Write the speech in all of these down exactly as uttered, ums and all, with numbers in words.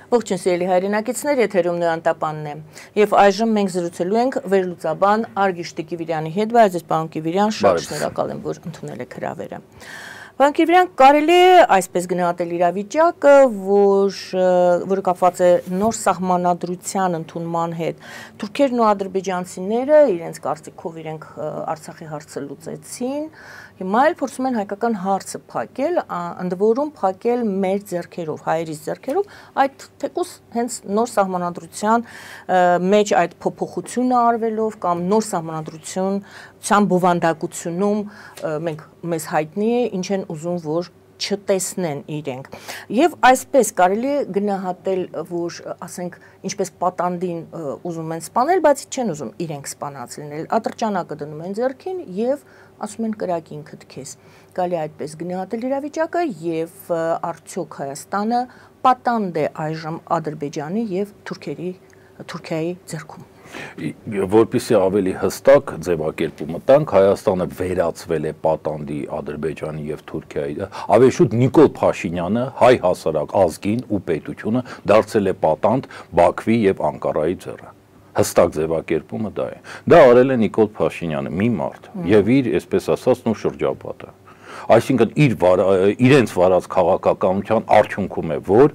Ողջույն սիրելի հայրենակիցներ, եթերում Նոյան Տապանն է։ Եվ այժմ մենք զրուցելու ենք վերլուծաբան Արգիշ Տիկիվիրյանի հետ, բայց ես պարոն Կիվիրյան շատ շնորհակալ եմ, որ ընդունել եք հրավերը։ Պարոն Կիվիրյան, կարելի է այսպես գնահատել իրավիճակը, որ որը կապված է նոր սահմանադրության ընդունման հետ։ Թուրքերն ու ադրբեջանցիները իրենց կարծիքով իրենք Արցախի հարցը լուծեցին, հիմա էլ փորձում են հայկական հարցը փակել, ընդ որում փակել մեր ձեռքերով, հայերիս ձեռքերով, այդ թեկուզ հենց նոր սահմանադրության մեջ այդ փոփոխությունը արվելով կամ նոր սահմանադրության բովանդակությունում մենք մեզ հայտնի է, ինչ են ուզում, որ չտեսնեն իրենք։ Եվ այսպես կարելի է գնահատել, որ ասենք ինչպես պատանդին ուզում են սպանել, բայց չեն ուզում իրենք սպանած լինել։ Ատրճանակը դնում են ձեռքին եւ ասում են կրակ ինքդ քեզ։ Կարելի է այդպես գնահատել իրավիճակը եւ արդյոք Հայաստանը պատանդ է այժմ Ադրբեջանի եւ Թուրքերի Թուրքիայի ձեռքում։ Որպեսզի ավելի հստակ ձևակերպումը տանք, Հայաստանը վերածվել է պատանդի Ադրբեջանի եւ Թուրքիայի, ավելի շուտ Նիկոլ Փաշինյանը հայ հասարակ ազգին ու պետությունը դարձել է պատանդ Բաքվի եւ Անկարայի ձեռը։ Հստակ ձևակերպումը դա է։ Դա արել է Նիկոլ Փաշինյանը, մի մարդ, եւ իր, այսպես ասած, նույն շրջապատը։ Այսինքն իր իրենց վարած քաղաքականության արդյունքում է, որ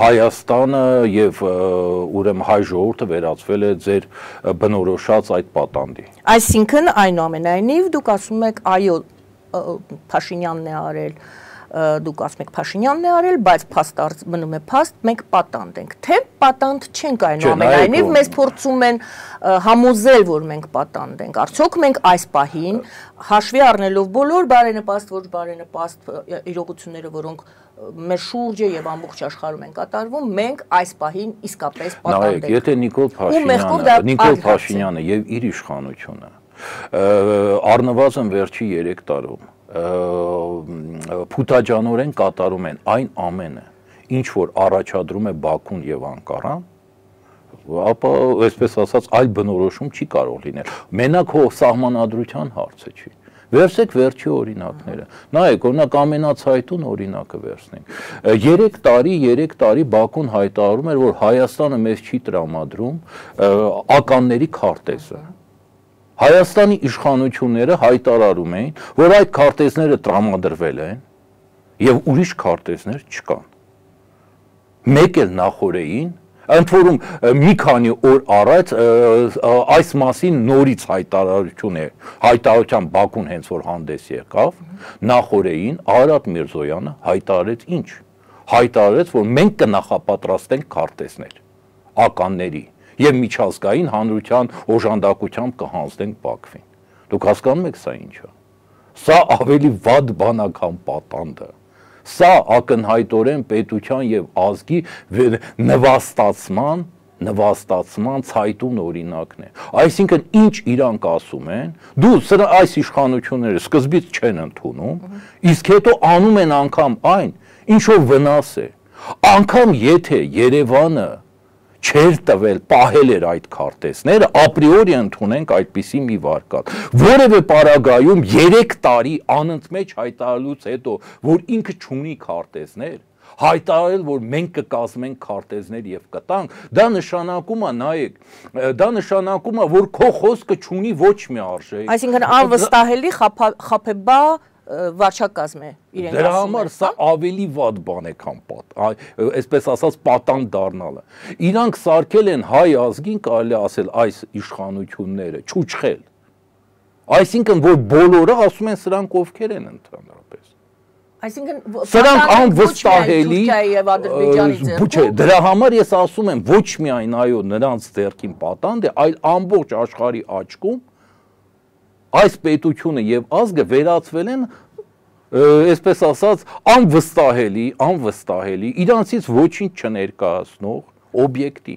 Հայաստանը եւ ուրեմն հայ ժողովուրդը վերածվել է ձեր բնորոշած այդ պատանդի։ Այսինքն այնուամենայնիվ դուք ասում եք այո Փաշինյանն է արել, դուք ասում եք Փաշինյանն է արել, բայց փաստ մնում է փաստ, մենք պատանդ ենք, թե պատանդ չենք այնուամենայնիվ մեզ փորձում են համոզել, որ մենք պատանդ ենք, արդյոք մենք այս պահին հաշվի առնելով բոլոր բարենպաստ, ոչ բարենպաստ իրողությունները, որոնք մեր շուրջը եւ ամբողջ աշխարհում են կատարվում, մենք այս պահին իսկապես պատանդ ենք։ Եթե Նիկոլ Փաշինյանը, Նիկոլ Փաշինյանը եւ իր իշխանությունը առնվազն վերջի երեք տարում փութաջանորեն կատարում են այն ամենը, ինչ որ առաջադրում է Բաքուն եւ Անկարան, ապա այսպես ասած այլ բնորոշում չի կարող լինել։ Մենակ հո սահմանադրության հարցը չի։ Վերցեք վերջի օրինակները։ Նայեք, օրինակ ամենացայտուն օրինակը վերցնենք։ երեք տարի, երեք տարի Բաքուն հայտարարում էր, որ Հայաստանը մեզ չի տրամադրում ականների քարտեզը։ Հայաստանի իշխանությունները հայտարարում էին, որ այդ քարտեզները տրամադրվել են եւ ուրիշ քարտեզներ չկան։ Մեկ էլ նախորդին, ընդ որում մի քանի օր առաջ այս մասին նորից հայտարարություն է, հայտարարության Բաքուն հենց որ հանդես եկավ, նախորդին Արարատ Միրզոյանը հայտարարեց ինչ։ Հայտարարեց, որ մենք կնախապատրաստենք քարտեզներ, ականների եւ միջազգային հանրության օժանդակությամբ կհանձնենք Բաքվին։ Դուք հասկանում եք սա ինչ է։ Սա ավելի վատ բանական պատանդը։ Սա ակնհայտորեն պետության եւ ազգի նվաստացման, նվաստացման ցայտուն օրինակն է։ Այսինքն ինչ իրանք ասում են, դու սրա այս իշխանությունները սկզբից չեն ընդունում, իսկ հետո անում են անգամ այն, ինչ որ վնաս է։ Անգամ եթե Երևանը չեր տվել, պահել էր այդ քարտեզները, ապրիորի ընդունենք այդպիսի մի վարկատ։ Որևէ պարագայում երեք տարի անընդմեջ հայտարարելուց հետո, որ ինքը չունի քարտեզներ, հայտարարել, որ մենք կկազմենք քարտեզներ եւ կտանք, դա նշանակում է, նայեք, դա նշանակում է, որ քո խոսքը չունի ոչ մի արժեք։ Այսինքն անվստահելի խափեբա վարչակազմ է իրենք ասում են։ Դրա համար սա ավելի վատ բան է, քան պատ, այսպես ասած պատանդ դառնալը։ Իրանք սարքել են հայ ազգին, կարելի ասել, այս իշխանությունները չուչխել։ Այսինքն որ բոլորը ասում են սրանք ովքեր են ընդհանրապես։ Այսինքն սրանք անվստահելի չէ, դրա համար ես ասում եմ ոչ միայն այո նրանց ձեռքին պատանդ է, այլ ամբողջ աշխարհի աչքում այս պետությունը եւ ազգը վերածվել են, այսպես ասած, անվստահելի, անվստահելի, իրանցից ոչինչ չներկայացնող օբյեկտի։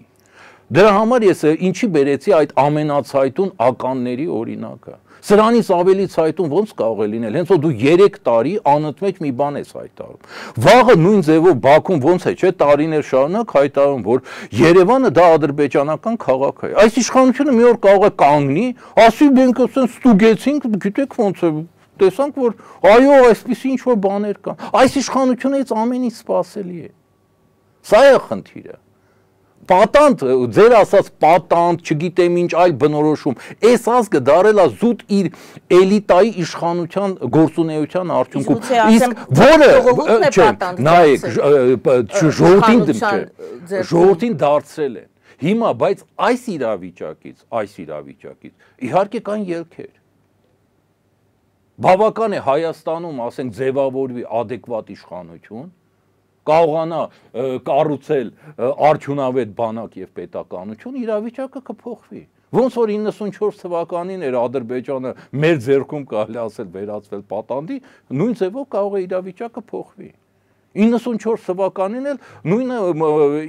Դրա համար ես ինչի բերեցի այդ ամենացայտուն ականների օրինակը։ Սրանից ավելի ցայտուն ոնց կարող է լինել, հենց որ դու երեք տարի անընդմեջ մի բան ես հայտարարում։ Վաղը նույն ձևով Բաքուն ոնց է, չէ, տարիներ շարունակ հայտարարում, որ Երևանը դա ադրբեջանական քաղաք է։ Այս իշխանությունը մի օր կարող է կանգնի, ասի մենք ասեն ստուգեցինք, գիտեք ոնց է, տեսանք որ այո, այսպիսի ինչ որ բաներ կան։ Այս իշխանությունից ամեն ինչ սպասելի է։ Սա է խնդիրը։ Պատանդ, ձեր ասած պատանդ, չգիտեմ ինչ այլ բնորոշում, այս ազգը դարել է զուտ իր էլիտայի իշխանության գործունեության արդյունքում։ Իսկ որը, չէ, նայեք, ժողովրդին դարձրել են։ Հիմա, բայց այս իրավիճակից, այս իրավիճակից, իհարկե կան ելքեր։ Բավական է Հայաստանում, ասենք, ձևավորվի adekvat իշխանություն, կարողանա կառուցել արդյունավետ բանակ եւ պետականություն, իրավիճակը կփոխվի։ Ոնց որ իննսունչորս թվականին էր Ադրբեջանը մեր ձեռքում կարելի ասել վերածվել պատանդի, նույն ձևով կարող է իրավիճակը փոխվի։ իննսունչորս թվականին էլ նույն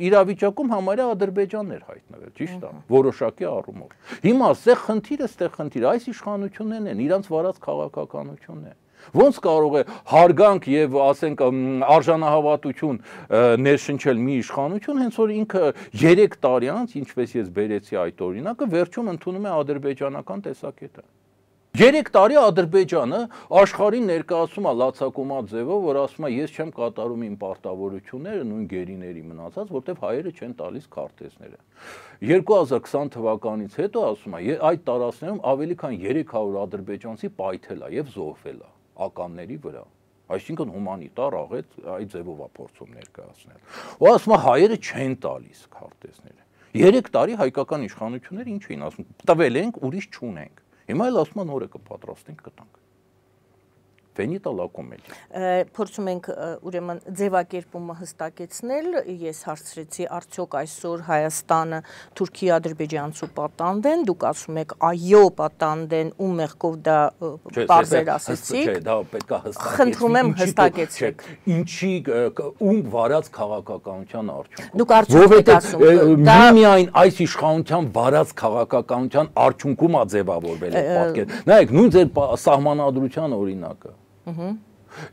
իրավիճակում համարյա Ադրբեջանն էր հայտնվել, ճիշտ է, որոշակի առումով։ Հիմա այստեղ խնդիրը, այստեղ խնդիրը այս իշխանություններն են, իրանց վարած քաղաքականությունն է։ Ոնց կարող է հարգանք եւ ասենք արժանահավատություն ներշնչել մի իշխանություն, հենց որ ինքը երեք տարի անց, ինչպես ես բերեցի այդ օրինակը, վերջում ընդունում է ադրբեջանական տեսակետը։ Երեք տարի Ադրբեջանը աշխարհին ներկայացում է լացակումած ձևով, որ ասում է ես չեմ կատարում իմ պարտավորությունները, նույն գերիների մնացած, որտեվ հայերը չեն տալիս քարտեզները։ երկու հազար քսան թվականից հետո ասում է այդ տարածքներում ավելի քան երեք հարյուր ադրբեջանցի պայթել է եւ զոհվել է ականների վրա, այսինքն հումանիտար աղետ այդ ձևով է փորձում ներկայացնել։ Ու ասում է հայերը չեն տալիս քարտեզները։ Երեք տարի հայկական իշխանությունները ինչ էին ասում, տվել ենք, ուրիշ չունենք։ Հիմա էլ ասում են նորը կպատրաստենք կտանք։ Վենիտա լակոմելի։ Փորձում ենք ուրեմն ձևակերպումը հստակեցնել, ես հարցրեցի արդյոք այսօր Հայաստանը Թուրքիա-ադրբեջանցու պատանդ են, դուք ասում եք այո պատանդ են, ում մեղքով դա բարձր ասեցիք։ Չէ, դա պետք է հստակեցվի։ Խնդրում եմ հստակեցեք։ Ինչի ում վարած քաղաքականության արդյունքում։ Դուք արդյոք եք ասում, դա միայն այս իշխանության վարած քաղաքականության արդյունքում է ձևավորվել այդ պատկերը։ Նայեք, նույն ձեր սահմանադրության օրինակը։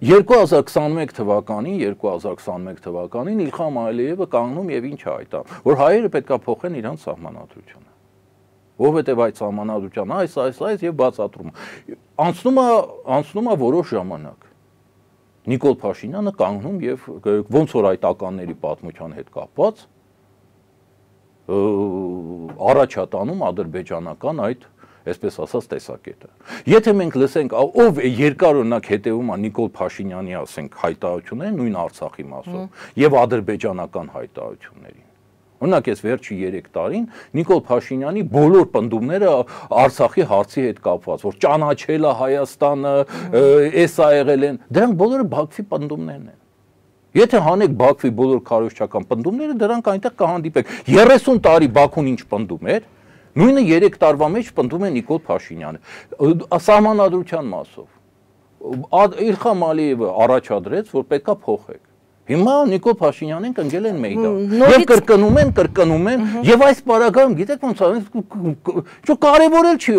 երկու հազար քսանմեկ թվականին, երկու հազար քսանմեկ թվականին Իլխամ Ալիևը կանգնում եւ ինչ հայտա, որ հայերը պետքա փոխեն իրանց սահմանադրությունը։ Որովհետեւ այդ սահմանադրության այս, այս, այս եւ բացատրում։ Անցնում է, անցնում է որոշ ժամանակ։ Նիկոլ Փաշինյանը կանգնում եւ ոնց որ այդ ականների պատմության հետ կապված առաջատանում ադրբեջանական այդ այսպես ասած տեսակետը։ Եթե մենք լսենք, ով երկար օրինակ հետևում է Նիկոլ Փաշինյանի, ասենք, հայտարարություններին, նույն Արցախի մասով, եւ ադրբեջանական հայտարարություններին։ Օրինակ այս վերջի երեք տարին Նիկոլ Փաշինյանի բոլոր պնդումները Արցախի հարցի հետ կապված, որ ճանաչել է Հայաստանը, էս ա եղել են, դրանք բոլորը Բաքվի պնդումներն են։ Եթե հանեք Բաքվի բոլոր քարոզչական պնդումները, դրանք այնտեղ կհանդիպեք։ երեսուն տարի Բաքուն ինչ պնդում էր, նույնը երեք տարվա մեջ պնդում է Նիկոլ Փաշինյանը սահմանադրության մասով։ Իլխամ Ալիևը առաջադրեց, որ պետքա փոխեք։ Հիմա Նիկոլ Փաշինյանին կընկել են մեյդան։ Եվ կրկնում են, կրկնում են, եւ այս պարագայում գիտեք ոնց է, չէ կարևոր էլ չի,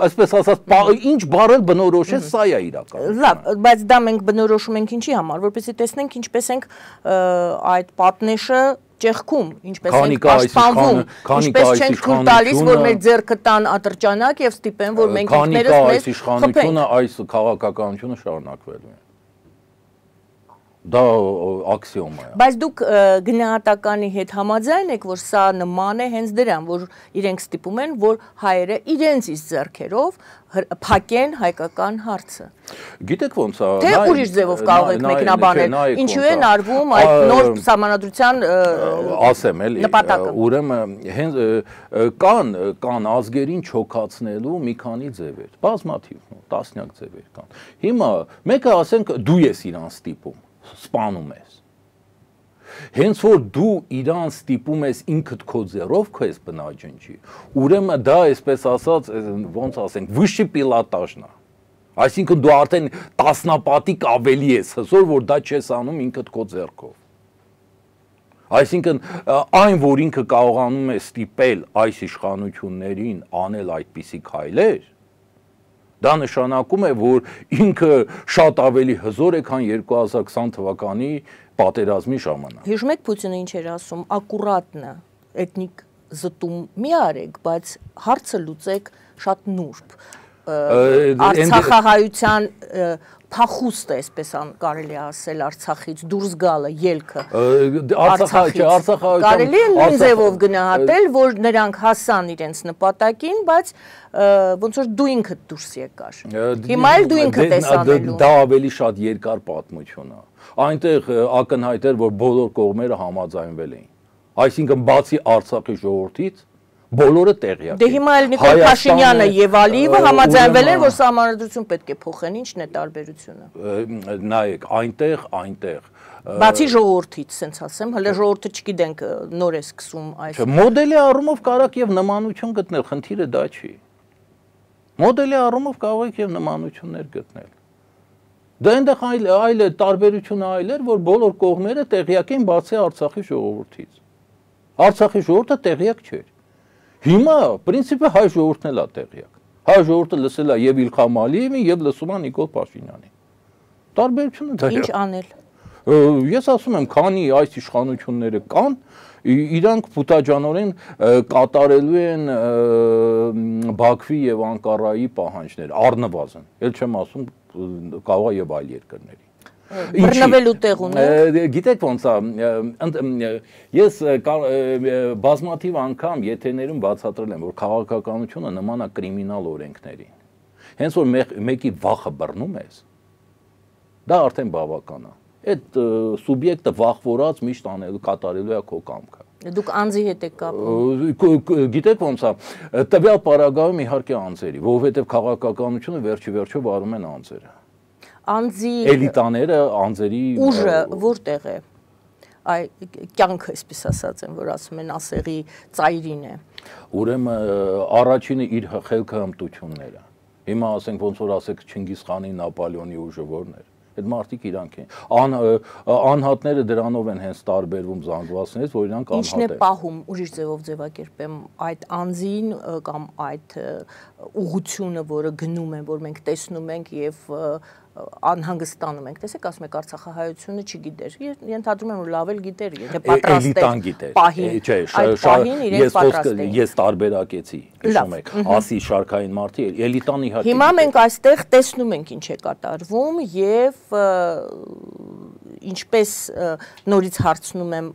այսպես ասած, ինչ բառը բնորոշես, սա է իրական։ Լավ, բայց դա մենք բնորոշում ենք ինչի համար, որպեսզի տեսնենք ինչպես ենք այդ պատնեշը ճեղքում, ինչպես ենք պաշտպանվում, ինչպես չենք թույլ տալիս, որ մեր ձեռքը տան ատրճանակ եւ ստիպեն, որ մենք ինքներս մեզ այս իշխանությունը, այս քաղաքականությունը շարունակվելու է։ Դա աքսիոմ է։ Բայց դուք գնահատականի հետ համաձայն եք, որ սա նման է հենց դրան, որ իրենք ստիպում են, որ հայերը իրենց իսկ ձեռքերով փակեն հայկական հարցը։ Գիտեք ոնց է։ Թե ուրիշ ձևով կարող եք մեկնաբանել, ինչու են արվում այդ նոր սահմանադրության ասեմ էլի, ուրեմն հենց կան կան ազգերին չոքացնելու մի քանի ձևեր, բազմաթիվ, տասնյակ ձևեր կան։ Հիմա մեկը ասենք դու ես իրան ստիպում, սպանում ես։ Հենց որ դու իրան ստիպում ես ինքդ քո ձեռով քեզ բնաջնջի, ուրեմն դա այսպես ասած, ոնց ասենք, վշի պիլոտաժն է։ Այսինքն դու արդեն տասնապատիկ ավելի ես հզոր, որ դա չես անում ինքդ քո ձեռքով։ Այսինքն այն, որ ինքը կարողանում է ստիպել այս իշխանություններին անել այդպիսի քայլեր, դա նշանակում է, որ ինքը շատ ավելի հզոր է, քան երկու հազար քսան թվականի պատերազմի ժամանակ։ Հիշում եք Պուտինը ինչ էր ասում, ակուրատնը, էթնիկ զտում մի արեք, բայց հարցը լուծեք շատ նուրբ։ Արցախահայության փախուստ է, այսպես կարելի ասել, Արցախից դուրս գալը, ելքը։ Արցախայից կարելի է նույն ձևով գնահատել, որ նրանք հասան իրենց նպատակին, բայց ոնց որ դու ինքդ դուրս եկար։ Հիմա էլ դու ինքդ ես անելու։ Դա ավելի շատ երկար պատմություն է։ Այնտեղ ակնհայտ էր, որ բոլոր կողմերը համաձայնվել էին։ Այսինքն բացի Արցախի ժողովրդից բոլորը տեղյակ են։ Դե հիմա էլ Նիկոլ Փաշինյանը եւ Ալիևը համաձայնվել են, որ սահմանադրություն պետք է փոխեն, ի՞նչն է տարբերությունը։ Նայեք, այնտեղ, այնտեղ Բացի ժողովրդից, ասենց ասեմ, հələ ժողովուրդը չգիտենք նոր է սկսում այս։ Մոդելի առումով կարակ եւ նմանություն գտնել, խնդիրը դա չի։ Մոդելի առումով կարող եք եւ նմանություններ գտնել։ Դա այնտեղ այլ այլ տարբերությունը այլ էր, որ բոլոր կողմերը տեղյակ էին բացի Արցախի ժողովրդից։ Արցախի ժողովուրդը տեղյակ չէր։ Հիմա պրինցիպը հայ ժողովուրդն էլ է տեղյակ։ Հայ ժողովուրդը լսել է եւ Իլխամ Ալիևին եւ լսում է Նիկոլ Փաշինյանին։ Տարբերությունը դա է։ Ինչ անել։ Ես ասում եմ, քանի այս իշխանությունները կան, իրանք փութաջանորեն կատարելու են Բաքվի եւ Անկարայի պահանջներ, առնվազն։ Էլ չեմ ասում կարող է եւ այլ երկրների։ Բռնվելու տեղ ունի։ Գիտեք ոնց է, ես բազմաթիվ անգամ եթերներում բացատրել եմ, որ քաղաքականությունը նման է կրիմինալ օրենքներին։ Հենց որ մեկի վախը բռնում ես, դա արդեն բավական է։ Այդ սուբյեկտը վախվորած միշտ անելու կատարելու է քո կամքը։ Դուք անձի հետ եք կապում։ Գիտեք ոնց է, տվյալ պարագայում իհարկե անձերի, որովհետև քաղաքականությունը վերջի վերջո վարում են անձերը։ Անձի էլիտաները, անձերի ուժը որտեղ է։ Այ կյանքը, այսպես ասած են, որ ասում են ասեղի ծայրին է։ Ուրեմն առաջինը իր խելքը հմտությունները։ Հիմա ասենք ոնց որ ասեք Չինգիզ խանի, Նապոլեոնի ուժը որն էր։ Այդ մարդիկ իրանք են։ Անհատները դրանով են հենց տարբերվում զանգվածներից, որ իրանք անհատ են։ Ինչն է պահում, ուրիշ ձևով ձևակերպեմ, այդ անձին կամ այդ ուղղությունը, որը գնում են, որ մենք տեսնում ենք եւ անհանգստանում ենք։ Տեսեք, ասում եք Արցախահայությունը չգիտեր։ Ենթադրում եմ, որ լավ էլ գիտեր, եթե պատրաստ էր։ Չէ, ես տարբերակեցի, հիշում եք, ասի շարքային մարդի, էլիտան իհարկե։ Հիմա մենք այստեղ տեսնում ենք ինչ է կատարվում եւ ինչպես նորից հարցնում եմ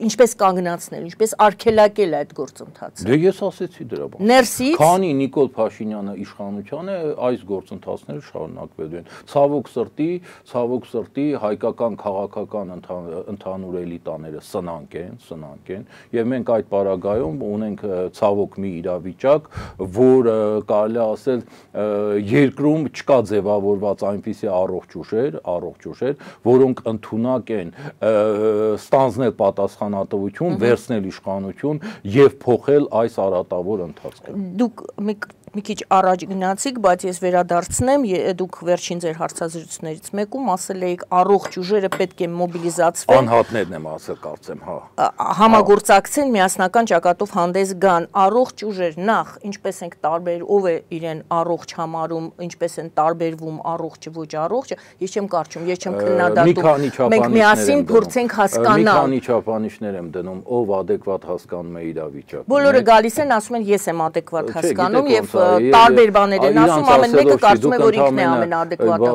ինչպես կանգնացնել, ինչպես արգելակել այդ գործընթացը։ Դե ես ասեցի դրա բանը։ Ներսից քանի Նիկոլ Փաշինյանը իշխանության է, այս գործընթացները շարունակվելու են։ Ցավոք սրտի, ցավոք սրտի հայկական քաղաքական ընդհանուր էլիտաները սնանկ են, սնանկ են, եւ մենք այդ պարագայում ունենք ցավոք մի իրավիճակ, որ կարելի ասել երկրում չկա ձևավորված այնպիսի առողջ ուժեր, առողջ ուժեր, որոնք ընդունակ են ստանձնել պատասխանատվություն, վերցնել իշխանություն եւ փոխել այս արատավոր ընթացքը։ Դուք մի քիչ առաջ գնացիք, բայց ես վերադարձնեմ, դուք վերջին ձեր հարցազրույցներից մեկում ասել էիք առողջ ուժերը պետք է մոբիլիզացվեն։ Անհատներն եմ ասել, կարծեմ, հա։ Համագործակցեն, միասնական ճակատով հանդես գան։ Առողջ ուժեր նախ, ինչպես ենք տարբեր, ով է իրեն առողջ համարում, ինչպես են տարբերվում առողջը, ոչ առողջը, ես չեմ կարճում, ես չեմ քննադատում։ Մենք միասին փորձենք հասկանալ։ Մի քանի չափանիշներ եմ դնում, ով adekvat հասկանում է իրավիճակը։ Բոլորը գալիս են, ասում են ես եմ adekvat հասկանում եւ տարբեր բաներ են ասում, ամեն մեկը կարծում է, որ ինքն է ամենաադեկվատը։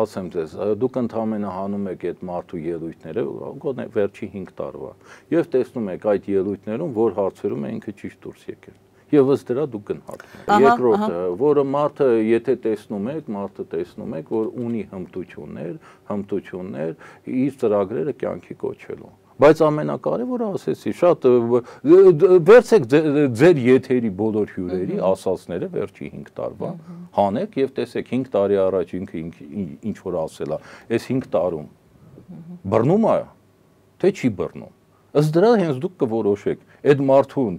Ասեմ ձեզ, դուք ընդհանրապես հանում եք այդ մարդու ելույթները, գոնե վերջի հինգ տարվա, եւ տեսնում եք այդ ելույթներում, որ հարցերում է ինքը ճիշտ դուրս եկել։ Եվ ըստ դրա դուք գնահատում եք։ Երկրորդը, որը մարդը, եթե տեսնում եք, մարդը տեսնում եք, որ ունի հմտություններ, հմտություններ իր ծրագրերը կյանքի կոչելու։ Բայց ամենակարևորը ասեցի, շատ վերցեք ձեր եթերի բոլոր հյուրերի ասածները վերջի հինգ տարվա, հանեք եւ տեսեք հինգ տարի առաջ ինքը ինչ որ ասել է, այս հինգ տարում բռնում է, թե չի բռնում։ Ըստ դրա հենց դուք կորոշեք, այդ մարդուն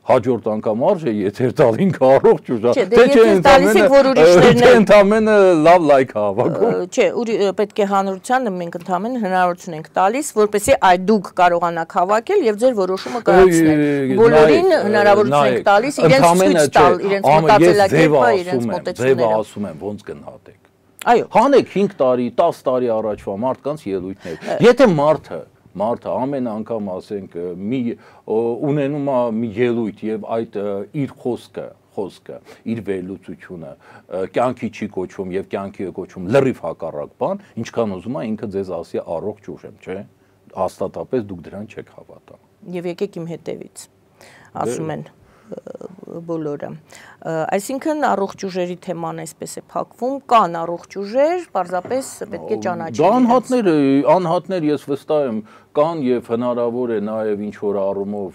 հաջորդ անգամ արժե եթեր տալ ինքը առողջ ուժա, թե չէ ընդամենը լավ լայք հավաքում։ Չէ, պետք է հանրությանը մենք ընդամենը հնարավորություն ենք տալիս, որպեսզի այդ դուք կարողանաք հավաքել եւ ձեր որոշումը կայացնել։ Բոլորին հնարավորություն ենք տալիս իրենց ցույց տալ, իրենց մտածելակերպը, իրենց մոտեցումները։ Ձևը ասում եմ, ոնց գնահատեք։ Այո։ Հանեք հինգ տարի, տասը տարի առաջվա մարդկանց ելույթներ։ Եթե մարդը Մարդը ամեն անգամ ասենք մի ունենում է մի ելույթ եւ այդ իր խոսքը խոսքը, իր վերլուծությունը կյանքի չի կոչվում եւ կյանքի է կոչվում լրիվ հակառակ բան, ինչքան ուզում է ինքը ձեզ ասի առողջ ուժ եմ, չէ՞։ Հաստատապես դուք դրան չեք հավատա։ Եվ եկեք իմ հետևից, ասում են բոլորը։ Այսինքն առողջ ուժերի թեման այսպես է փակվում, կան առողջ ուժեր, պարզապես պետք է ճանաչել։ Դա անհատներ, անհատներ ես վստահ եմ կան եւ հնարավոր է նաեւ ինչ որ առումով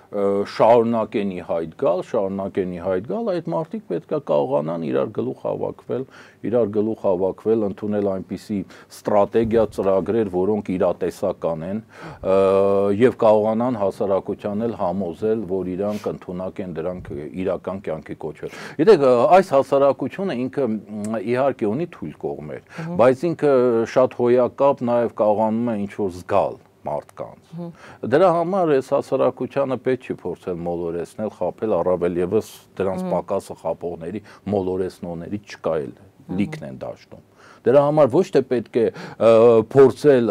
շարունակեն ի հայտ գալ, շարունակեն ի հայտ գալ, այդ մարդիկ պետքա կարողանան իրար գլուխ հավաքվել, իրար գլուխ հավաքվել, ընդունել այնպիսի ստրատեգիա, ծրագրեր, որոնք իրատեսական են եւ կարողանան հասարակությանն էլ համոզել, որ իրանք ընդունակ են դրանք իրական կյանքի կոչել։ Գիտեք, այս հասարակությունը ինքը իհարկե ունի թույլ կողմեր, բայց ինքը շատ հոյակապ նաեւ կարողանում է ինչ որ զգալ մարդկանց։ Դրա համար այս հասարակությանը պետք չի փորձել մոլորեցնել, խաբել, առավել եւս դրանց պակասը խաբողների, մոլորեցնողների չկա էլ, լիքն են դաշտում։ Դրա համար ոչ թե պետք է փորձել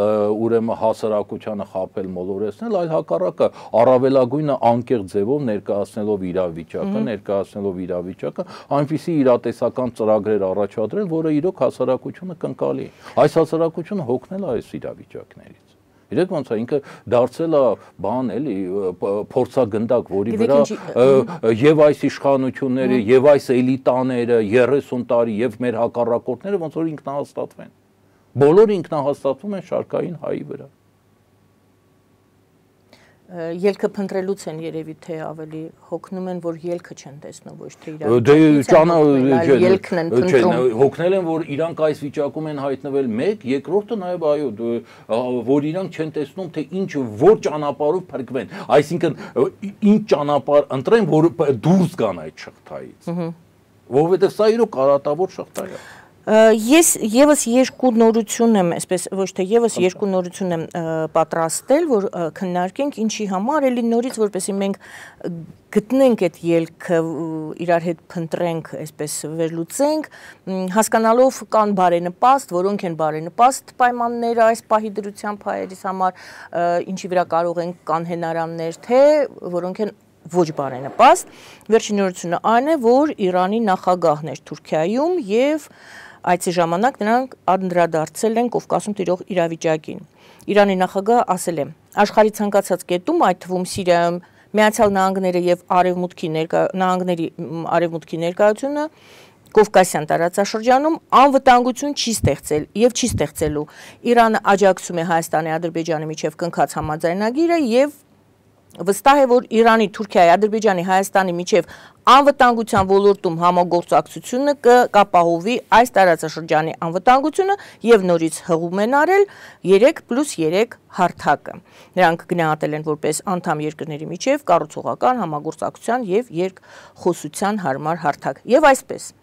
ուրեմն հասարակությանը խաբել, մոլորեցնել, այլ հակառակը առավելագույնը անկեղծ ձևով ներկայացնելով իրավիճակը, ներկայացնելով իրավիճակը, այնպիսի իրատեսական ծրագրեր առաջադրել, որը իրոք հասարակությունը կընկալի։ Այս հասարակությունը հոգնել է այս իրավիճակներից։ Իրեք ոնց է ինքը դարձել է բան էլի փորձագնդակ, որի վրա եւ այս իշխանությունները եւ այս էլիտաները երեսուն տարի եւ մեր հակառակորդները ոնց որ ինքնահաստատվեն։ Բոլորը ինքնահաստատվում են շարքային հայի վրա։ Ելքը փնտրելուց են երևի թե ավելի հոգնում են, որ ելքը չեն տեսնում, ոչ թե իրավիճակն են փնտրում։ Հոգնել են, որ իրանք այս վիճակում են հայտնվել մեկ, երկրորդը նաև այո, որ իրանք չեն տեսնում, թե ինչ որ ճանապարհով փրկվեն, այսինքն ինչ ճանապարհ ընտրեն, որ դուրս գան այդ շղթայից։ Որովհետև սա իրոք կարատավոր շղթա է։ Ես եւս երկու նորություն եմ, այսպես ոչ թե եւս երկու նորություն եմ պատրաստել, որ քննարկենք ինչի համար, էլի նորից որպեսզի մենք գտնենք այդ ելքը, իրար հետ փնտրենք, այսպես վերլուծենք, հասկանալով կան բարենպաստ, որոնք են բարենպաստ պայմանները այս պահի դրության փայերից համար, ինչի վրա կարող են կան հենարաններ, թե որոնք են ոչ բարենպաստ։ Վերջին նորությունը այն է, որ Իրանի նախագահն էր Թուրքիայում եւ այցի ժամանակ նրանք անդրադարձել են Կովկասում տիրող իրավիճակին։ Իրանի նախագահը ասել է. աշխարհի ցանկացած կետում, այդ թվում Սիրիայում Միացյալ Նահանգները եւ Արևմուտքի նահանգների արևմուտքի ներկայությունը Կովկասյան տարածաշրջանում անվտանգություն չի ստեղծել եւ չի ստեղծելու։ Իրանը աջակցում է Հայաստանի, Ադրբեջանի միջև կնքած համաձայնագիրը եւ վստահ է, որ Իրանի, Թուրքիայի, Ադրբեջանի, Հայաստանի միջև անվտանգության ոլորտում համագործակցությունը կապահովի այս տարածաշրջանի անվտանգությունը եւ նորից հղում են արել երեք պլյուս երեք հարթակը։ Նրանք գնահատել են որպես անդամ երկրների միջև կառուցողական համագործակցության եւ երկխոսության հարմար հարթակ։ Եվ այսպես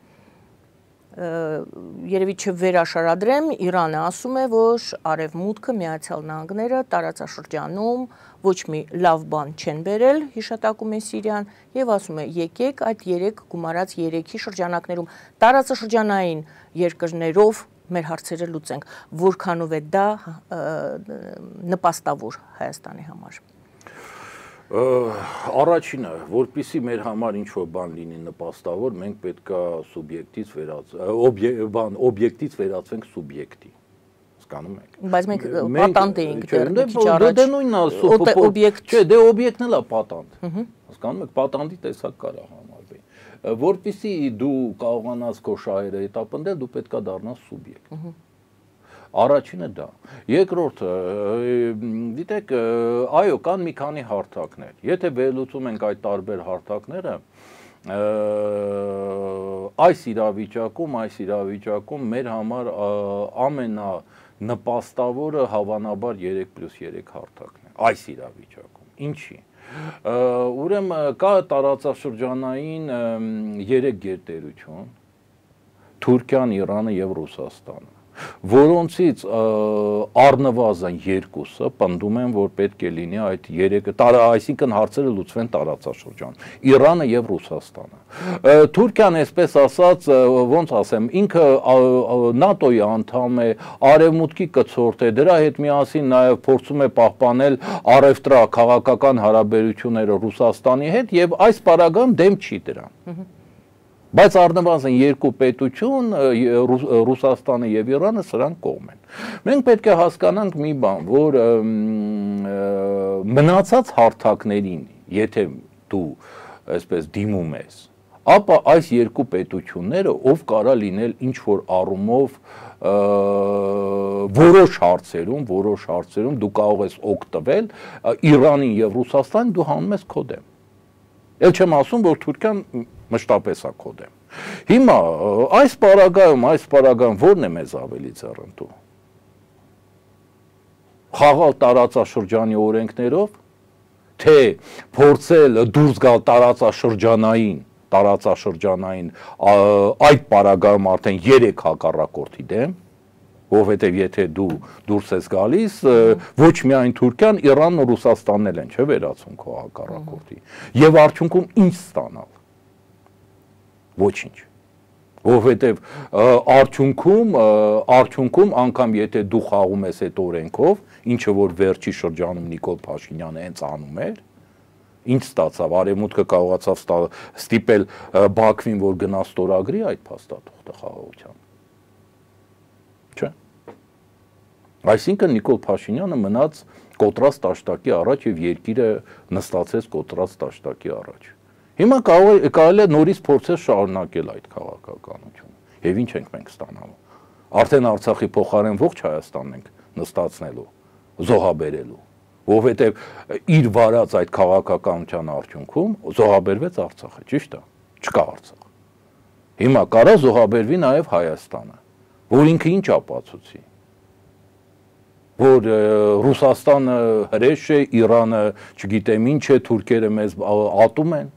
երևի չվերաշարադրեմ, Իրանը ասում է, որ Արևմուտքը, Միացյալ Նահանգները տարածաշրջանում ոչ մի լավ բան չեն բերել, հիշատակում է Սիրիան, եւ ասում է, եկեք այդ երեք գումարած երեքի շրջանակներում տարածաշրջանային երկրներով մեր հարցերը լուծենք, որքանով է դա նպաստավոր Հայաստանի համար։ Առաջինը, որպեսզի մեր համար ինչ-որ բան լինի նպաստավոր, մենք պետքա սուբյեկտից վերածվենք, օբյեկտից վերածվենք սուբյեկտի։ Հասկանում եք։ Բայց մենք պատանդ էինք դեռ մի քիչ առաջ։ Դե նույնն է, օբյեկտ։ Չէ, դե օբյեկտն էլ է պատանդ։ Հասկանում եք, պատանդի տեսակ կարա համարվի։ Որպեսզի դու կարողանաս քո շահերը հետապնդել, դու պետքա դառնաս սուբյեկտ։ Առաջինը դա։ Երկրորդը, դիտեք, այո, կան մի քանի հարթակներ։ Եթե վերլուծում ենք այդ տարբեր հարթակները, այս իրավիճակում, այս իրավիճակում մեր համար ամենանպաստավորը հավանաբար երեք պլյուս երեք հարթակն է։ Այս իրավիճակում։ Ինչի՞։ Ուրեմն կա տարածաշրջանային երեք գերտերություն՝ Թուրքիան, Իրանը եւ Ռուսաստանը, որոնցից առնվազն երկուսը պնդում են, որ պետք է լինի այդ երեքը, այսինքն հարցերը լուծվեն տարածաշրջանում, Իրանը եւ Ռուսաստանը։ Թուրքիան, այսպես ասած, ոնց ասեմ, ինքը ՆԱՏՕ-ի անդամ է, Արևմուտքի կցորդ է, դրա հետ միասին նաեւ փորձում է պահպանել առևտրաքաղաքական հարաբերությունները Ռուսաստանի հետ եւ այս պարագայում դեմ չի դրան։ Բայց առնվազն երկու պետություն, Ռուսաստանը եւ Իրանը սրանք կողմ են։ Մենք պետք է հասկանանք մի բան, որ մնացած հարթակներին, եթե դու այսպես դիմում ես, ապա այս երկու պետությունները ով կարա լինել ինչ որ առումով որոշ հարցերում, որոշ հարցերում դու կարող ես օգտվել Իրանին եւ Ռուսաստանին դու հանում ես քո դեմ։ Էլ չեմ ասում, որ Թուրքիան մշտապես է քո դեմ։ Հիմա այս պարագայում, այս պարագայում ո՞րն է մեզ ավելի ձեռնտու։ Խաղալ տարածաշրջանի օրենքներով, թե փորձել դուրս գալ տարածաշրջանային, տարածաշրջանային այդ պարագայում արդեն երեք հակառակորդի դեմ, որովհետև եթե դու դուրս ես գալիս, ոչ միայն Թուրքիան, Իրանն ու Ռուսաստանն էլ են, չէ՞ վերացում քո հակառակորդի։ Եվ արդյունքում ինչ ստանալ։ Ոչինչ։ Որովհետև արդյունքում, արդյունքում անգամ եթե դու խաղում ես այդ օրենքով, ինչը որ վերջի շրջանում Նիկոլ Փաշինյանը հենց անում էր, ինչ ստացավ, Արևմուտքը կարողացավ ստիպել Բաքվին, որ գնա ստորագրի այդ փաստաթուղթը խաղաղության։ Չէ։ Այսինքն Նիկոլ Փաշինյանը մնաց կոտրած տաշտակի առաջ եւ երկիրը նստացեց կոտրած տաշտակի առաջ։ Հիմա կարելի է նորից փորձել շարունակել այդ քաղաքականությունը։ Եվ ինչ ենք մենք ստանալու։ Արդեն Արցախի փոխարեն ողջ Հայաստանն ենք նստացնելու, զոհաբերելու, որովհետեւ իր վարած այդ քաղաքականության արդյունքում զոհաբերվեց Արցախը, ճիշտ է։ Չկա Արցախ։ Հիմա կարա զոհաբերվի նաեւ Հայաստանը, որ ինքը ինչ ապացուցի։ Որ Ռուսաստանը հրեշ է, Իրանը չգիտեմ ինչ է, թուրքերը մեզ ատում են։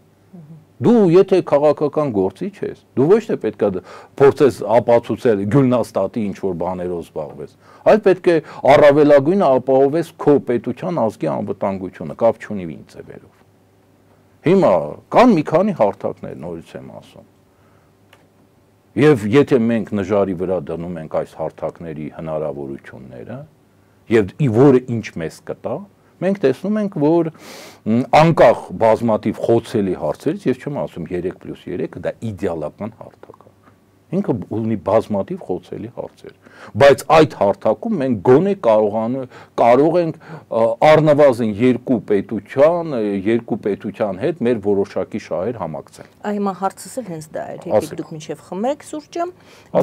Դու եթե քաղաքական գործիչ ես, դու ոչ թե պետք է փորձես ապացուցել Գյուլնաստատի ինչ որ բաներով զբաղվես, այլ պետք է առավելագույնը ապահովես քո պետության ազգի անվտանգությունը, կապ չունի ինչ ձևերով։ Հիմա կան մի քանի հարթակներ, նորից եմ ասում։ Եվ եթե մենք նժարի վրա դնում ենք այս հարթակների հնարավորությունները, եւ որը ինչ մեզ կտա, մենք տեսնում ենք, որ անկախ բազմաթիվ խոցելի հարցերից, ես չեմ ասում երեք պլյուս երեք, դա իդեալական հարթակ է։ Ինքը ունի բազմաթիվ խոցելի հարցեր, բայց այդ հարթակում մենք գոնե կարող ենք առնվազն երկու պետության, երկու պետության հետ մեր որոշակի շահեր համակցել։ Հիմա հարցս էլ հենց դա էր, եկեք դուք մինչև խմեք սուրճը,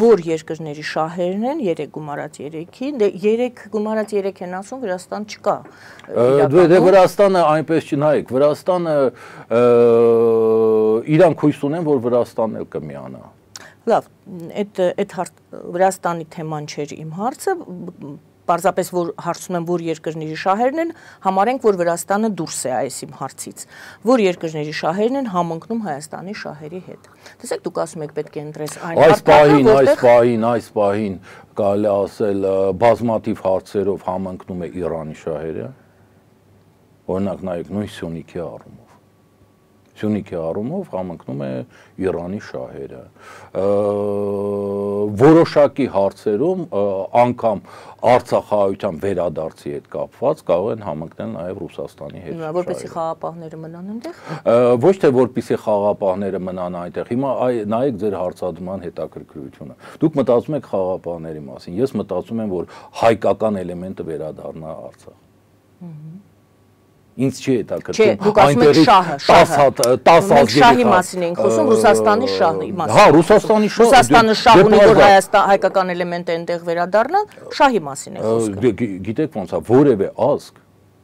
որ երկրների շահերն են, երեք գումարած երեքի, երեք գումարած երեք են ասում, Վրաստան չկա։ Դե Վրաստանը այնպես չնայեք, Վրաստանը իրանք հույս ունեն, որ Վրաստանն էլ կմիանա։ Լավ, այդ Վրաստանի թեման չէր իմ հարցը, պարզապես որ հարցում եմ, որ երկրների շահերն են, համարենք, որ Վրաստանը դուրս է այս իմ հարցից, որ երկրների շահերն են համընկնում Հայաստանի շահերի հետ։ Տեսեք, դուք ասում եք պետք է ընտրես այն հարթակը, այս պահին, այս պահին կարելի ասել բազմաթիվ հարցերով համընկնում է Իրանի շահերը, օրինակ նայեք նույն Սյունիքի առումով։ Սյունիքի առումով համընկնում է Իրանի շահերը։ Որոշակի հարցերում անգամ Արցախահայության վերադարձի հետ կապված կարող են համընկնել նաև Ռուսաստանի հետ։ Որպեսզի խաղապահները մնան այնտեղ։ Ոչ թե որպեսզի խաղապահները մնան այնտեղ։ Հիմա նայեք ձեր հարցադրման հետաքրքրությունը։ Դուք մտածում եք խաղապահների մասին։ Ես մտածում եմ, որ հայկական էլեմենտը վերադառնա Արցախ։ Ինձ չի հետաքրքրում այնտեղից տասը ազգերի շահի մասին ենք խոսում, Ռուսաստանի շահի մասին։ Հա, Ռուսաստանի շահը։ Ռուսաստանը շահ ունի, որ Հայաստան հայկական էլեմենտը այնտեղ վերադառնա, շահի մասին է խոսքը։ Գիտեք ոնց է, որևէ ազգ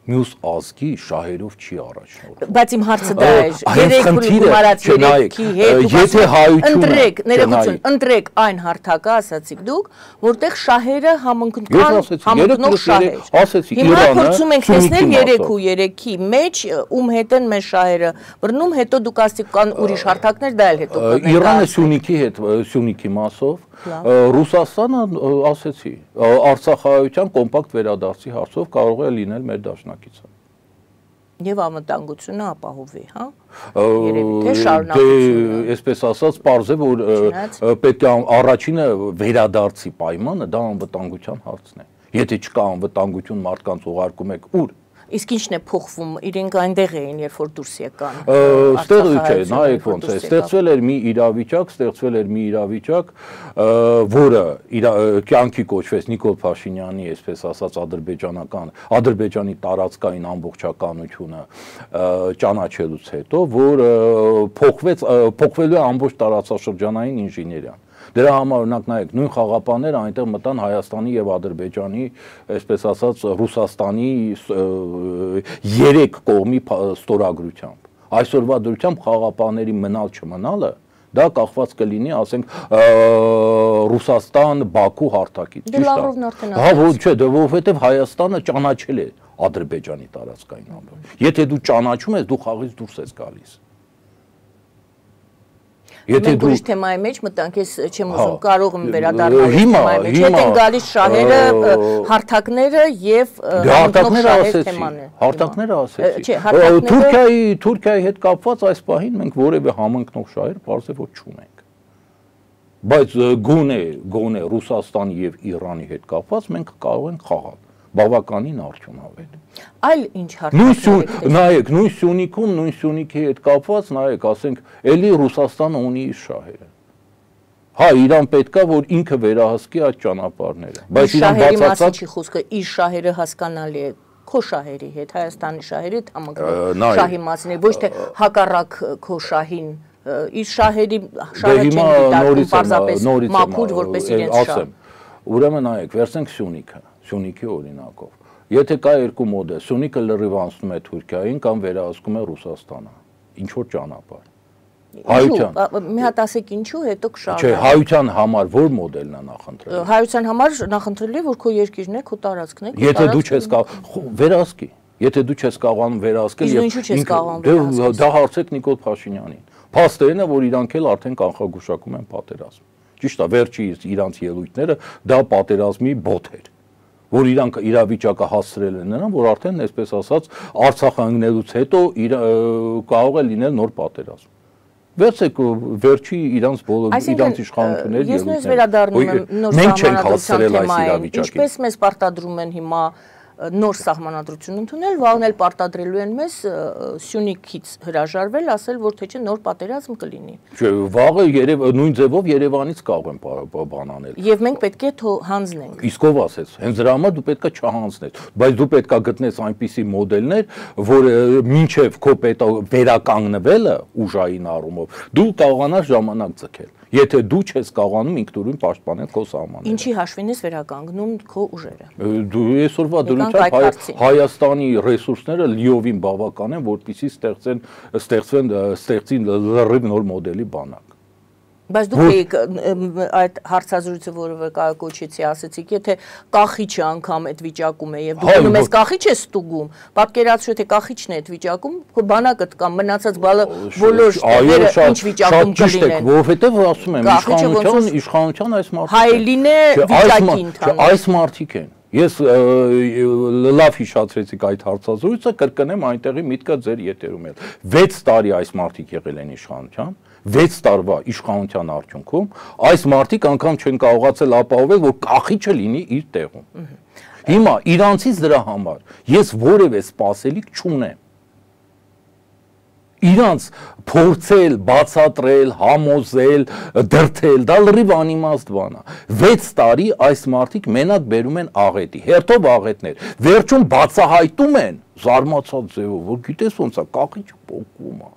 մյուս ազգի շահերով չի առաջնորդվում։ Բայց իմ հարցը դա է, երեք գումարած երեքի հետ, եթե հայությունը ընտրեք, ներողություն, ընտրեք այն հարթակը, ասացիք դուք, որտեղ շահերը համընկնան, համընկնող շահեր։ Հիմա փորձում ենք տեսնել երեք ու երեքի մեջ ում հետ են մեր շահերը բռնում, հետո դուք ասիք կան ուրիշ հարթակներ, դա էլ հետո կգնա։ Իրանը Սյունիքի հետ, Սյունիքի մասով, Ռուսաստանը ասեցի, Արցախահայության կոմպակտ վերադարձի հարցով կարող է լինել մեր դաշնակիցը։ Եվ անվտանգությունը ապահովի, հա։ Երևի թե շարունակությունը։ Այսպես ասած, պարզ է, որ պետք է առաջինը վերադարձի պայմանը դա անվտանգության հարցն է։ Եթե չկա անվտանգություն, մարդկանց ուղարկում եք ուր։ Իսկ ինչն է փոխվում, իրենք այնտեղ էին, երբ որ դուրս եկան։ Ստեղ չէ, նայեք ոնց է, ստեղծվել էր մի իրավիճակ, ստեղծվել էր մի իրավիճակ, որը կյանքի կոչվեց Նիկոլ Փաշինյանի, այսպես ասած, ադրբեջանական, ադրբեջանի տարածքային ամբողջականությունը ճանաչելուց հետո, որ փոխվեց, փոխվելու է ամբողջ տարածաշրջանային ինժեներիան։ Դրա համար օրինակ նայեք, նույն խաղապանները այնտեղ մտան Հայաստանի եւ Ադրբեջանի, այսպես ասած, Ռուսաստանի երեք կողմի ստորագրությամբ։ Այսօրվա դրությամբ խաղապանների մնալ չմնալը դա կախված կլինի, ասենք, Ռուսաստան, Բաքու հարթակից։ Դե Լավրովն արդեն ասաց։ Հա, ոչ, չէ, որովհետեւ Հայաստանը ճանաչել է Ադրբեջանի տարածքային ամբողջ։ Եթե դու ճանաչում ես, դու խաղից դուրս ես գալիս։ Մենք ուրիշ թեմայի մեջ մտանք, ես չեմ ուզում, կարող եմ վերադառնալ թեմայի մեջ, հետ են գալիս շահերը, հարթակները եւ հարթակները ասեցի, հարթակները ասեցի։ Թուրքիայի Թուրքիայի հետ կապված այս պահին մենք որևէ համընկնող շահեր բարձր որ չունենք։ Բայց գոնե գոնե Ռուսաստանի եւ Իրանի հետ կապված մենք կարող ենք խաղալ բավականին արդյունավետ։ Այլ ինչ հարցեր։ Նայեք, նույն Սյունիքում, նույն Սյունիքի հետ կապված, նայեք, ասենք, էլի Ռուսաստանը ունի իր շահերը։ Հա, իրան պետքա, որ ինքը վերահսկի այդ ճանապարհները։ Բայց իրան բացարձակ չի խոսքը, իր շահերը հասկանալի է քո շահերի հետ, Հայաստանի շահերի հետ համընկնող շահի մասին է, ոչ թե հակառակ քո շահին, իր շահերի շահը չեն դիտարկում պարզապես մաքուր որպես իրենց շահ։ Ուրեմն նայեք, վերցնենք Սյունիքը, Սյունիքի օրինակով։ Եթե կա երկու մոդել, Սյունիքը լրիվ անցնում է Թուրքիային կամ վերահսկում է Ռուսաստանը, ինչ որ ճանապարհ։ Հայության։ Մի հատ ասեք ինչու, հետո կշարժ։ Չէ, հայության համար ո՞ր մոդելն է նախընտրել։ Հայության համար նախընտրելի է, որ քո երկիրն է, քո տարածքն է։ Եթե դու չես կարող վերահսկի, եթե դու չես կարողանում վերահսկել եւ ինչու չես կարողանում վերահսկել։ Դա հարցեք Նիկոլ Փաշինյանին։ Փաստերն է, որ իրանք էլ արդեն կանխագուշակում են պատերազմ։ Ճիշտ է, վերջի իրանց ելույթները դա պատերազմի բոթ էր, որ իրանք իրավիճակը հասցրել են նրան, որ արդեն, այսպես ասած, Արցախ ընկնելուց հետո կարող է լինել նոր պատերազմ։ Վերցեք վերջի իրանց բոլոր իրանց իշխանությունների ելույթները։ Ես նույնիսկ վերադառնում եմ նոր սահմանադրության թեմային, ինչպես մեզ պարտադրում են հիմա նոր սահմանադրություն ընդունել, վաղն էլ պարտադրելու են մեզ Սյունիքից հրաժարվել, ասել, որ թե չէ նոր պատերազմ կլինի։ Չէ, վաղը երև նույն ձևով Երևանից կարող են բան անել։ Եվ մենք պետք է հանձնենք։ Իսկ ով ասեց, հենց դրա համար դու պետքա չհանձնես, բայց դու պետքա գտնես այնպիսի մոդելներ, որ մինչև քո պետք վերականգնվելը ուժային առումով դու կարողանաս ժամանակ ձգել։ Եթե դու չես կարողանում ինքնուրույն պաշտպանել քո սահմանները։ Ինչի հաշվին ես վերականգնում քո ուժերը։ Դու այսօրվա դրությամբ Հայաստանի ռեսուրսները լիովին բավական են, որպեսզի ստեղծեն ստեղծվեն ստեղծին լրիվ նոր մոդելի բանակ։ Բայց դուք եք այդ հարցազրույցը, որը կայակոչեցի, ասեցիք, եթե կախիչը անգամ այդ վիճակում է եւ դու գնում ես կախիչ ես ստուգում, պատկերացրու թե կախիչն է այդ վիճակում, քո բանակդ կամ մնացած բոլոր շտերը ինչ վիճակում կլինեն։ Որովհետեւ ասում եմ, իշխանության իշխանության այս մարդիկ հայելին է վիճակի ընդհանուր։ Այս մարդիկ են։ Ես լավ հիշացրեցիք այդ հարցազրույցը, կրկնեմ այնտեղի միտքը ձեր եթերում էլ։ վեց տարի այս մարդիկ եղել են իշխանության, վեց տարվա իշխանության արդյունքում այս մարդիկ անգամ չեն կարողացել ապահովել, որ կախիչը լինի իր տեղում։ Հիմա իրանցից դրա համար ես որևէ սպասելիք չունեմ։ Իրանց փորձել, բացատրել, համոզել, դրթել, դա լրիվ անիմաստ բան է։ վեց տարի այս մարդիկ մենակ բերում են աղետի, հերթով աղետներ, վերջում բացահայտում են զարմացած ձևով, որ գիտես ոնց է, կախիչը պոկվում է։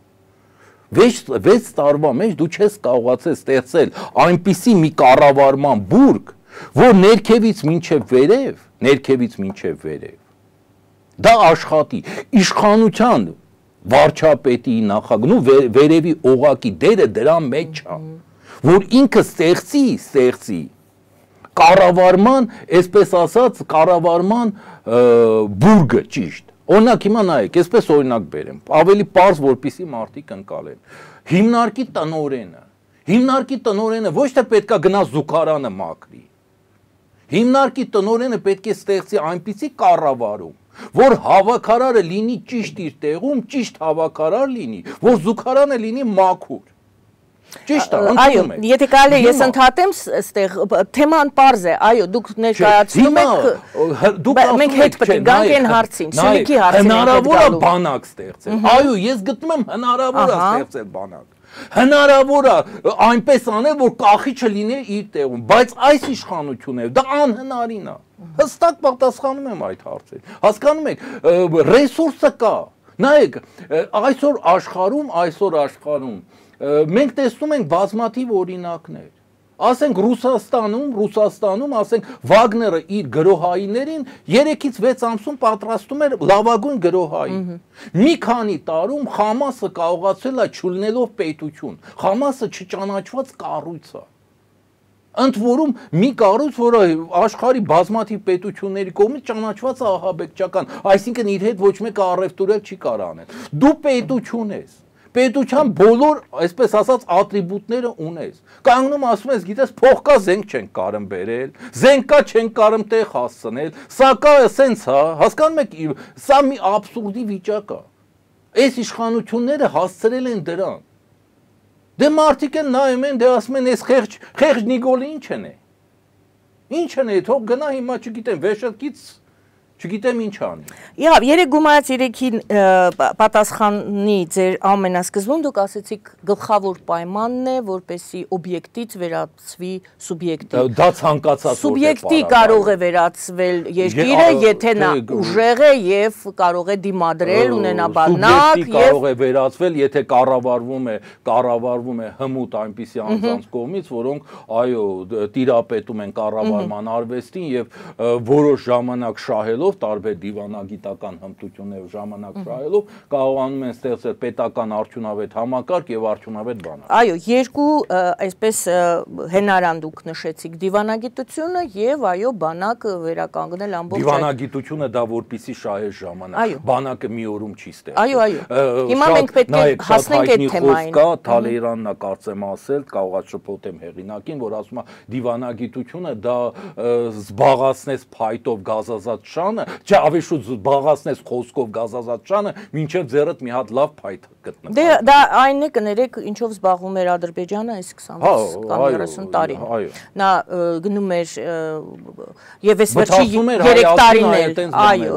վեց տարվա մեջ դու չես կարողացել ստեղծել այնպիսի մի կառավարման բուրգ, որ ներքևից մինչև վերև, ներքևից մինչև վերև, դա աշխատի, իշխանության վարչապետի նախագնու վերևի օղակի դերը դրա մեջ է, որ ինքը ստեղծի, ստեղծի կառավարման, այսպես ասած, կառավարման բուրգը ճիշտ։ Օրինակ հիմա նայեք, այսպես օրինակ բերեմ, ավելի պարզ որպեսզի մարդիկ ընկալեն։ Հիմնարկի տնօրենը, հիմնարկի տնօրենը ոչ թե պետքա գնա զուգարանը մաքրի։ Հիմնարկի տնօրենը պետք է ստեղծի այնպիսի կառավարում, որ հավաքարարը լինի ճիշտ իր տեղում, ճիշտ հավաքարար լինի, որ զուգարանը լինի մաքուր։ Ճիշտ է, այո, եթե կարելի է ես ընդհատեմ, այստեղ թեման պարզ է, այո, դուք ներկայացնում եք, մենք հետ պետք է գանք այն հարցին, Սյունիքի հարցին ենք հետ գալու։ Հնարավոր է բանակ ստեղծել, այո, ես գտնում եմ հնարավոր է ստեղծել բանակ, հնարավոր է այնպես անել, որ կախիչը լինի իր տեղում, բայց այս իշխանությունները դա անհնարին է, հստակ պատասխանում եմ այդ հարցին, հասկանում եք, ռեսուրսը կա, նայեք, այսօր աշխարհում, այսօր աշխարհում մենք տեսնում ենք բազմաթիվ օրինակներ, ասենք Ռուսաստանում, Ռուսաստանում, ասենք Վագները իր գրոհայիներին երեքից վեց ամսում պատրաստում էր լավագույն գրոհային։ Մի քանի տարում Խամասը կարողացել է չլինելով պետություն, Խամասը չճանաչված կառույց է։ Ընդ որում մի կառույց, որը աշխարհի բազմաթիվ պետությունների կողմից ճանաչված է ահաբեկչական, այսինքն իր հետ ոչ մեկը առևտուրել չի կարող անել։ Դու պետություն ես։ Պետության բոլոր, այսպես ասած, ատրիբուտները ունես։ Կանգնում ասում ես, գիտես, փող կա, զենք չենք կարում բերել, զենք կա, չենք կարում տեղ հասցնել, սա կա, սենց հա, հասկանում եք, սա մի աբսուրդի վիճակ է։ Այս իշխանությունները հասցրել են դրան։ Դե մարդիկ են նայում են, դե ասում են, այս խեղճ, խեղճ Նիկոլը ինչ են է։ Ինչ են է, թող գնա հիմա չգիտեմ, վեշտից չգիտեմ ինչ անի։ Իհավ, երեք գումարած երեքին պատասխանի ձեր ամենասկզբում դուք ասեցիք գլխավոր պայմանն է, որպեսզի օբյեկտից վերածվի սուբյեկտի։ Դա ցանկացած սուբյեկտի կարող է վերածվել երկիրը, եթե նա ուժեղ է եւ կարող է դիմադրել, ունենա բանակ եւ կարող է վերածվել, եթե կառավարվում է, կառավարվում է հմուտ այնպիսի անձանց կողմից, որոնք այո, տիրապետում են կառավարման արվեստին եւ որոշ ժամանակ շահելով տարբեր դիվանագիտական հմտություններ ժամանակ շահելով կարողանում են ստեղծել պետական արդյունավետ համակարգ եւ արդյունավետ բանակ։ Այո, երկու այսպես հենարան դուք նշեցիք դիվանագիտությունը եւ այո բանակը վերականգնել ամբողջ դիվանագիտությունը դա որպեսի շահեր ժամանակ, բանակը մի օրում չի ստեղծել։ Այո, այո։ Հիմա մենք պետք է հասնենք այդ թեմային։ Կա Թալերանն է կարծեմ ասել, կարող է շփոթեմ հեղինակին, որ ասում է դիվանագիտությունը դա զբաղացնես փայտով գազազատ շանը Չէ, ավելի շուտ զբաղացնես խոսքով գազազատ շանը, մինչև ձեռդ մի հատ լավ փայտ գտնես։ Դե դա այն է կներեք, ինչով զբաղվում էր Ադրբեջանը այս քսանվեց կամ երեսուն տարին։ Նա գնում էր եւ այս վերջի երեք տարին էլ, այո,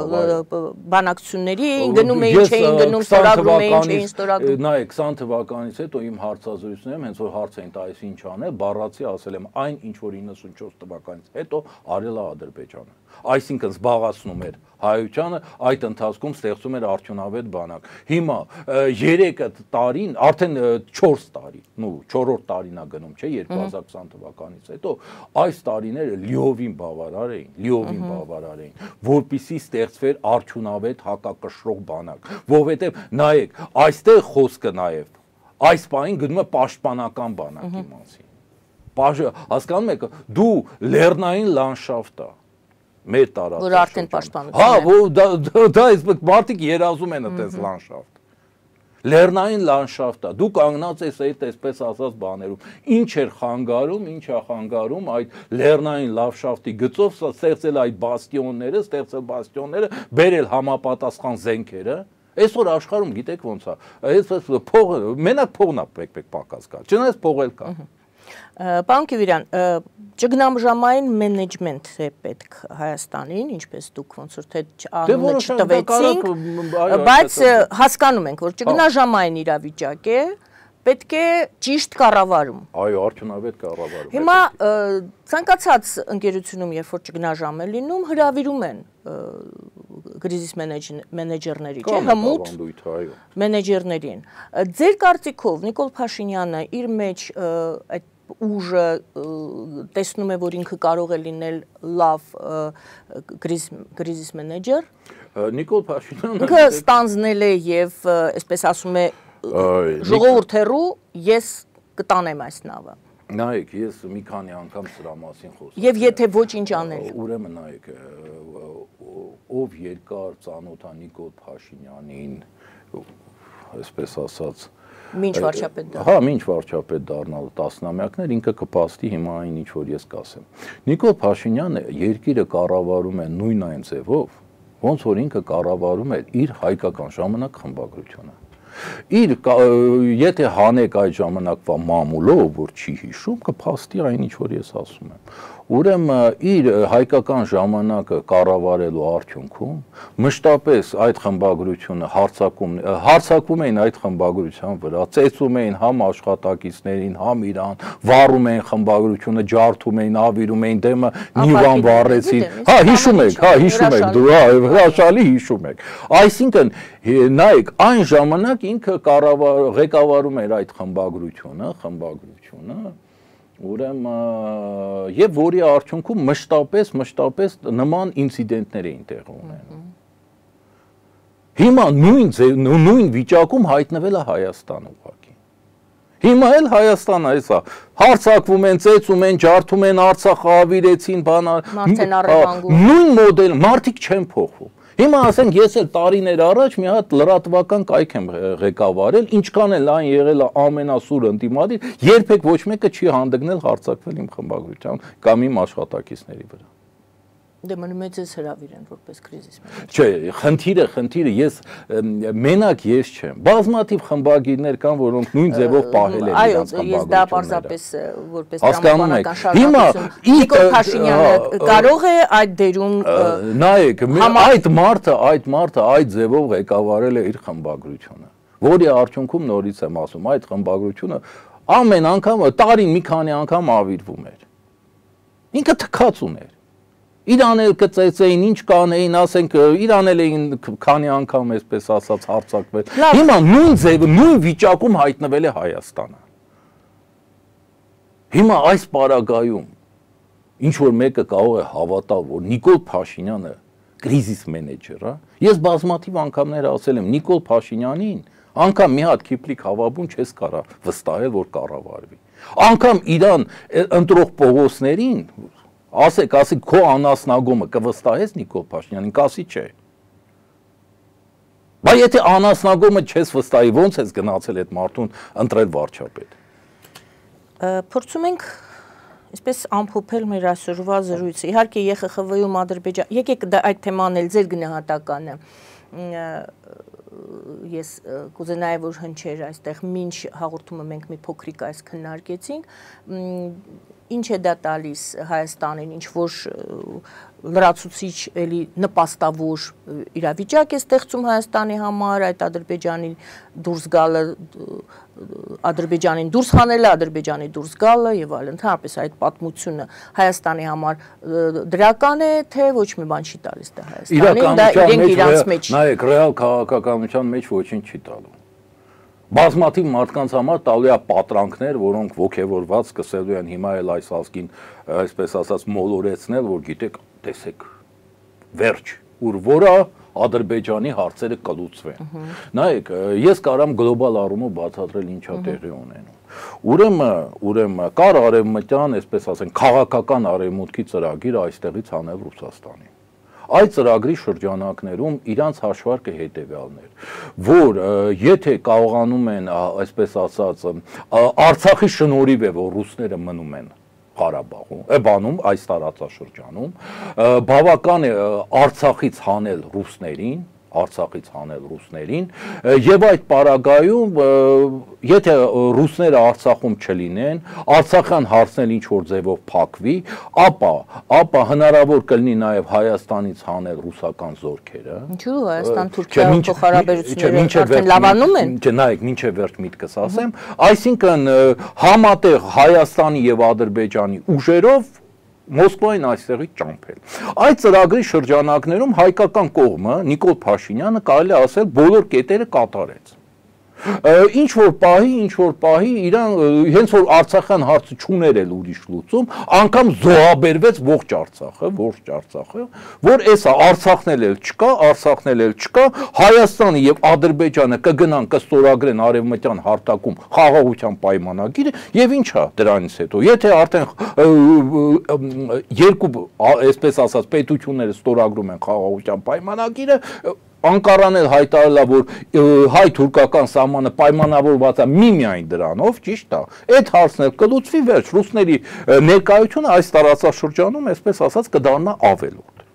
բանակցությունների էին գնում էին, չէին գնում, ստորագրում էին, չէին ստորագրում։ Նայեք, քսան թվականից հետո իմ հարցազրույցներում հենց որ հարց էին տալիս ինչ անել, բառացի ասել եմ այն ինչ որ իննսունչորս թվականից հետո արել է Ադրբեջանը։ Այսինքն զբաղացնում էր հայությանը, այդ ընթացքում ստեղծում էր արդյունավետ բանակ։ Հիմա երեք տարին, արդեն չորս տարի, նու չորրորդ տարին է գնում, չէ, երկու հազար քսան թվականից հետո այս տարիները լիովին բավարար էին, լիովին բավարար էին, որպեսզի ստեղծվեր արդյունավետ հակակշռող բանակ, որովհետև նայեք, այստեղ խոսքը նաև այս պահին գնում է պաշտպանական բանակի մասին։ Հասկանում եք, դու լեռնային լանդշաֆտ է մեր տարածաշրջանում։ Որ արդեն պաշտպանություն է։ Հա, որ դա այս մարդիկ երազում են այդպես լանդշաֆտ։ Լեռնային լանդշաֆտ է։ Դու կանգնած ես այդ այսպես ասած բաներում։ Ինչ էր խանգարում, ինչ է խանգարում այդ լեռնային լանդշաֆտի գծով ստեղծել այդ բաստիոնները, ստեղծել բաստիոնները, բերել համապատասխան զենքերը։ Այսօր աշխարհում գիտեք ոնց է։ Այսպես փողը, մենակ փողն է պետք-պետք պակաս կա։ Չնայած փողել կա։ Պարոն Կիվիրյան, ճգնամժամային մենեջմենտ է պետք Հայաստանին, ինչպես դուք ոնց որ թե անունը չտվեցինք, բայց հասկանում ենք, որ ճգնաժամային իրավիճակ է, պետք է ճիշտ կառավարում։ Այո, արդյունավետ կառավարում։ Հիմա ցանկացած ընկերությունում, երբ որ ճգնաժամ է լինում, հրավիրում են կրիզիս մենեջերների, չէ՞, հմուտ մենեջերներին։ Ձեր կարծիքով Նիկոլ Փաշինյանը իր մեջ այդ ուժը տեսնում է, որ ինքը կարող է լինել լավ կրիզիս մենեջեր։ Նիկոլ Փաշինյանը ինքը ստանձնել է եւ այսպես ասում է ժողովուրդ հեռու ես կտանեմ այս նավը։ Նայեք, ես մի քանի անգամ սրա մասին խոսում եմ։ Եվ եթե ոչինչ անել։ Ուրեմն նայեք, ով երկար ծանոթ է Նիկոլ Փաշինյանին, այսպես ասած Մինչ վարչապետ դառնալ։ Հա, մինչ վարչապետ դառնալ տասնամյակներ ինքը կփաստի հիմա այն ինչ որ ես կասեմ։ Նիկոլ Փաշինյանը երկիրը կառավարում է նույն այն ձևով, ոնց որ ինքը կառավարում էր իր հայկական ժամանակ խմբագրությունը։ իր եթե հանեք այդ ժամանակվա մամուլով, որ չի հիշում, կփաստի այն ինչ որ ես ասում եմ։ Ուրեմն իր հայկական ժամանակը կառավարելու արդյունքում մշտապես այդ խմբագրությունը հարձակում հարձակում էին այդ խմբագրության վրա, ծեծում էին համ աշխատակիցներին, համ իրան, վառում էին խմբագրությունը, ջարդում էին, ավիրում էին դեմը, նիվան վառեցին։ Հա, հիշում եք, հա, հիշում եք, դու հա, հրաշալի հիշում եք։ Այսինքն, նայեք, այն ժամանակ ինքը կառավար ղեկավարում էր այդ խմբագրությունը, խմբագրությունը Ուրեմն եւ որի արդյունքում մշտապես մշտապես նման ինցիդենտներ էին տեղի ունենում։ Հիմա նույն նույն վիճակում հայտնվել է Հայաստանը ուղղակի։ Հիմա էլ Հայաստանը էսա հարձակվում են, ծեծում են, ջարդում են, Արցախը ավիրեցին, բան նույն մոդել, մարդիկ չեն փոխվում։ Հիմա ասենք ես էլ տարիներ առաջ մի հատ լրատվական կայք եմ ղեկավարել, ինչքան էլ այն եղել է ամենասուր ընդդիմադիր, երբեք ոչ մեկը չի հանդգնել հարձակվել իմ խմբագրության կամ իմ աշխատակիցների վրա։ Դե մնում է ձեզ հրավիր են որպես կրիզիս մենեջեր։ Չէ, խնդիրը, խնդիրը ես մենակ ես չեմ։ Բազմաթիվ խմբագիրներ կան, որոնք նույն ձևով պահել են իրենց խմբագրությունները։ Այո, ես դա պարզապես որպես տրամաբանական շարունակություն։ Նիկոլ Փաշինյանը կարող է այդ դերում նայեք, այդ մարդը, այդ մարդը այդ ձևով ղեկավարել է իր խմբագրությունը, որի արդյունքում նորից եմ ասում, այդ խմբագրությունը ամեն անգամ տարին մի քանի անգամ ավիրվում էր։ Ինքը թքած ուներ։ Իրան էլ կծեծեին, ինչ կանեին, ասենք, իրան էլ էին քանի անգամ այսպես ասած հարձակվել։ Հիմա նույն ձևը, նույն վիճակում հայտնվել է Հայաստանը։ Հիմա այս պարագայում ինչ որ մեկը կարող է հավատալ, որ Նիկոլ Փաշինյանը կրիզիս մենեջեր է, ես բազմաթիվ անգամներ ասել եմ Նիկոլ Փաշինյանին, անգամ մի հատ Քիփլիկ հավաբուն չես կարա վստահել, որ կառավարվի։ Անգամ իրան ընտրող Պողոսներին Ասեք, ասեք, քո անասնագոմը կվստահես Նիկոլ Փաշինյանին, կասի չէ։ Բայց եթե անասնագոմը չես վստահի, ո՞նց ես գնացել այդ մարդուն ընտրել վարչապետ։ Փորձում ենք այսպես ամփոփել մեր այսօրվա զրույցը։ Իհարկե Ե Խ Խ V-ում Ադրբեջան, եկեք այդ թեման էլ ձեր գնահատականը։ Ես կուզենայի, որ հնչեր այստեղ մինչ հաղորդումը մենք մի փոքրիկ այս քննարկեցինք, ինչ է դա տալիս Հայաստանին, ինչ որ լրացուցիչ էլի նպաստավոր իրավիճակ է ստեղծում Հայաստանի համար, այդ Ադրբեջանի դուրս գալը, Ադրբեջանին դուրս հանելը, Ադրբեջանի դուրս գալը եւ այլն, ընդհանրապես այդ պատմությունը Հայաստանի համար դրական է, թե ոչ մի բան չի տալիս դա Հայաստանին, դա իրենք իրանց մեջ։ Նայեք, ռեալ քաղաքականության մեջ ոչինչ չի տալու։ Բազմաթիվ մարդկանց համար տալու է պատրանքներ, որոնք ոգևորված սկսելու են հիմա էլ այս ազգին, այսպես ասած, մոլորեցնել, որ գիտեք, տեսեք, վերջ, ուր որը Ադրբեջանի հարցերը կլուծվեն։ Նայեք, ես կարամ գլոբալ առումով բացատրել ինչա տեղի ունենում։ Ուրեմն, ուրեմն կար արևմտյան, այսպես ասենք, քաղաքական արևմուտքի ծրագիր այստեղից անել Ռուսաստանին։ Այդ ծրագրի շրջանակներում իրանց հաշվարկը հետևյալն էր, որ եթե կարողանում են, այսպես ասած, Արցախի շնորհիվ է, որ ռուսները մնում են Ղարաբաղում, բանում այս տարածաշրջանում, բավական է Արցախից հանել ռուսներին, Արցախից հանել ռուսներին, եւ այդ պարագայում, եթե ռուսները Արցախում չլինեն, Արցախյան հարցն ինչ որ ձևով փակվի, ապա, ապա հնարավոր կլինի նաեւ Հայաստանից հանել ռուսական զորքերը։ Ինչու՞ Հայաստան-Թուրքիա փոխհարաբերությունները արդեն լավանում են։ Չէ, նայեք, մինչև վերջ միտքս ասեմ, այսինքն համատեղ Հայաստանի եւ Ադրբեջանի ուժերով Մոսկվային այստեղից ճամփել։ Այդ ծրագրի շրջանակներում հայկական կողմը Նիկոլ Փաշինյանը կարելի ասել բոլոր կետերը կատարեց։ Ինչ որ պահի, ինչ որ պահի իրան հենց որ Արցախյան հարցը չուներ էլ ուրիշ լուծում, անգամ զոհաբերվեց ողջ Արցախը, ողջ Արցախը, որ էսա Արցախն էլ չկա, Արցախն էլ չկա, Հայաստանը եւ Ադրբեջանը կգնան կստորագրեն արևմտյան հարթակում խաղաղության պայմանագիրը եւ ինչա դրանից հետո, եթե արդեն երկու, այսպես ասած, պետությունները ստորագրում են խաղաղության պայմանագիրը, Անկարան էլ հայտարարել է, որ հայ-թուրքական սահմանը պայմանավորված է միմիայն դրանով, ճիշտ է, այդ հարցն էլ կլուծվի վերջ, ռուսների ներկայությունը այս տարածաշրջանում, այսպես ասած, կդառնա ավելորդ։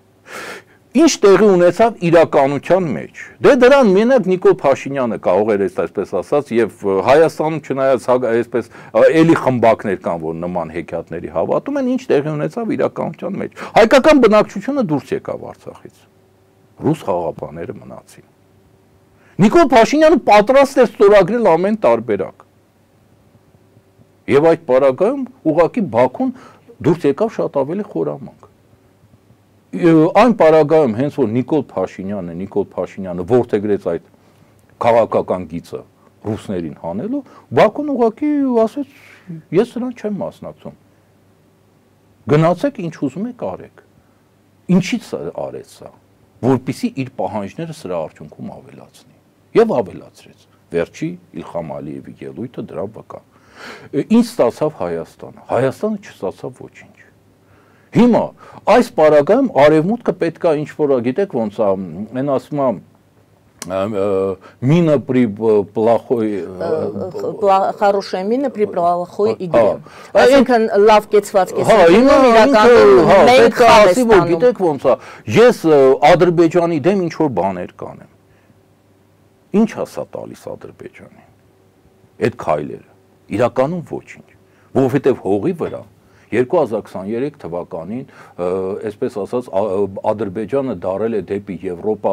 Ինչ տեղի ունեցավ իրականության մեջ։ Դե դրան մենակ Նիկոլ Փաշինյանը կարող էր այսպես ասած եւ Հայաստանում չնայած այսպես էլի խմբակներ կան, որ նման հեքիաթների հավատում են, ինչ տեղի ունեցավ իրականության մեջ։ Հայկական բնակչությունը դուրս եկավ Արցախից։ Ռուս խաղաղապահները մնացին։ Նիկոլ Փաշինյանը պատրաստ էր ստորագրել ամեն տարբերակ։ Եվ այդ պարագայում ուղղակի Բաքուն դուրս եկավ շատ ավելի խորամանկ։ Այն պարագայում հենց որ Նիկոլ Փաշինյանը, Նիկոլ Փաշինյանը որդեգրեց այդ քաղաքական գիծը ռուսներին հանելու, Բաքուն ուղղակի ասեց, ես նրան չեմ մասնակցում։ Գնացեք ինչ ուզում եք արեք։ Ինչից արեց սա, որպեսզի իր պահանջները սրա արդյունքում ավելացնի։ Եվ ավելացրեց։ Վերջի Իլխամ Ալիևի ելույթը դրա վկա։ Ինչ ստացավ Հայաստանը։ Հայաստանը չստացավ ոչինչ։ Հիմա այս պարագայում արևմուտքը պետքա ինչ որ գիտեք ոնց է, այն ասում է մինը при плохой хорошая мина при плохой игре։ Այսինքն լավ կեցված կեսակետում իրականում մենք ասի որ գիտեք ոնց է, ես Ադրբեջանի դեմ ինչ որ բաներ կանեմ։ Ինչ ասա տալիս Ադրբեջանին։ Այդ քայլերը իրականում ոչինչ, որովհետև հողի վրա երկու հազար քսաներեք թվականին, այսպես ասած, Ադրբեջանը դարել է դեպի Եվրոպա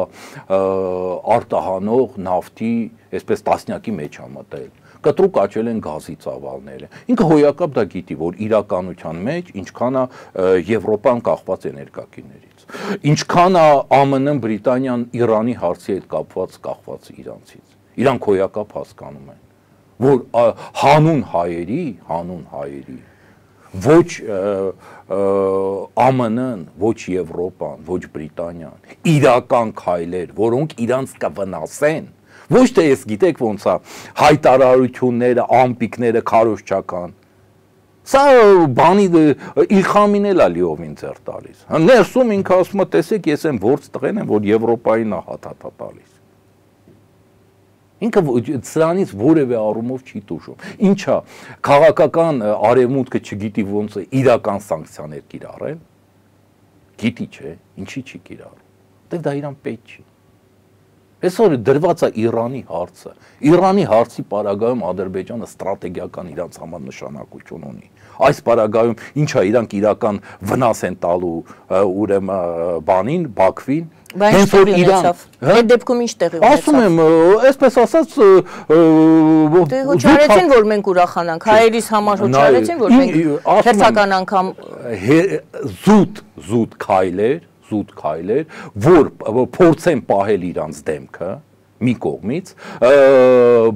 արտահանող նավթի, այսպես տասնյակի մեջ է մտել։ Կտրուկ աճել են գազի ծավալները։ Ինքը հոյակապ դա գիտի, որ իրականության մեջ ինչքան է Եվրոպան կախված էներգակիրներից, ինչքան է ԱՄՆ-ն, Բրիտանիան Իրանի հարցի հետ կապված կախված իրանցից։ Իրանք հոյակապ հասկանում են, որ հանուն հայերի, հանուն հայերի ոչ ԱՄՆ-ն, ոչ Եվրոպան, ոչ Բրիտանիան, իրական քայլեր, որոնք իրանց կվնասեն, ոչ թե ես գիտեք ոնց է հայտարարությունները, ամպիկները քարոզչական։ Սա բանի Իլխամին էլ է լիովին ձեռ տալիս։ Ներսում ինքը ասում է, տեսեք, ես եմ որց տղեն եմ, որ Եվրոպային է հաթաթա տալիս։ Ինքը սրանից որևէ առումով չի տուժում։ Ինչա, քաղաքական արևմուտքը չգիտի ոնց է իրական սանկցիաներ կիրառել։ Գիտի չէ, ինչի չի կիրառում։ Դե դա իրան պետք չի։ Այսօր դրված է Իրանի հարցը։ Իրանի հարցի պարագայում Ադրբեջանը ստրատեգիական իրանց համար նշանակություն ունի։ Այս պարագայում ինչա իրանք իրական վնաս են տալու ուրեմն բանին, Բաքվին։ Հենց որ Իրան, այդ դեպքում ինչ տեղի ունեցավ։ Ասում եմ, այսպես ասած, հոչարեցին, որ մենք ուրախանանք, հայերիս համար հոչարեցին, որ մենք հերթական անգամ զուտ, զուտ քայլեր, զուտ քայլեր, որ փորձեն պահել իրանց դեմքը մի կողմից,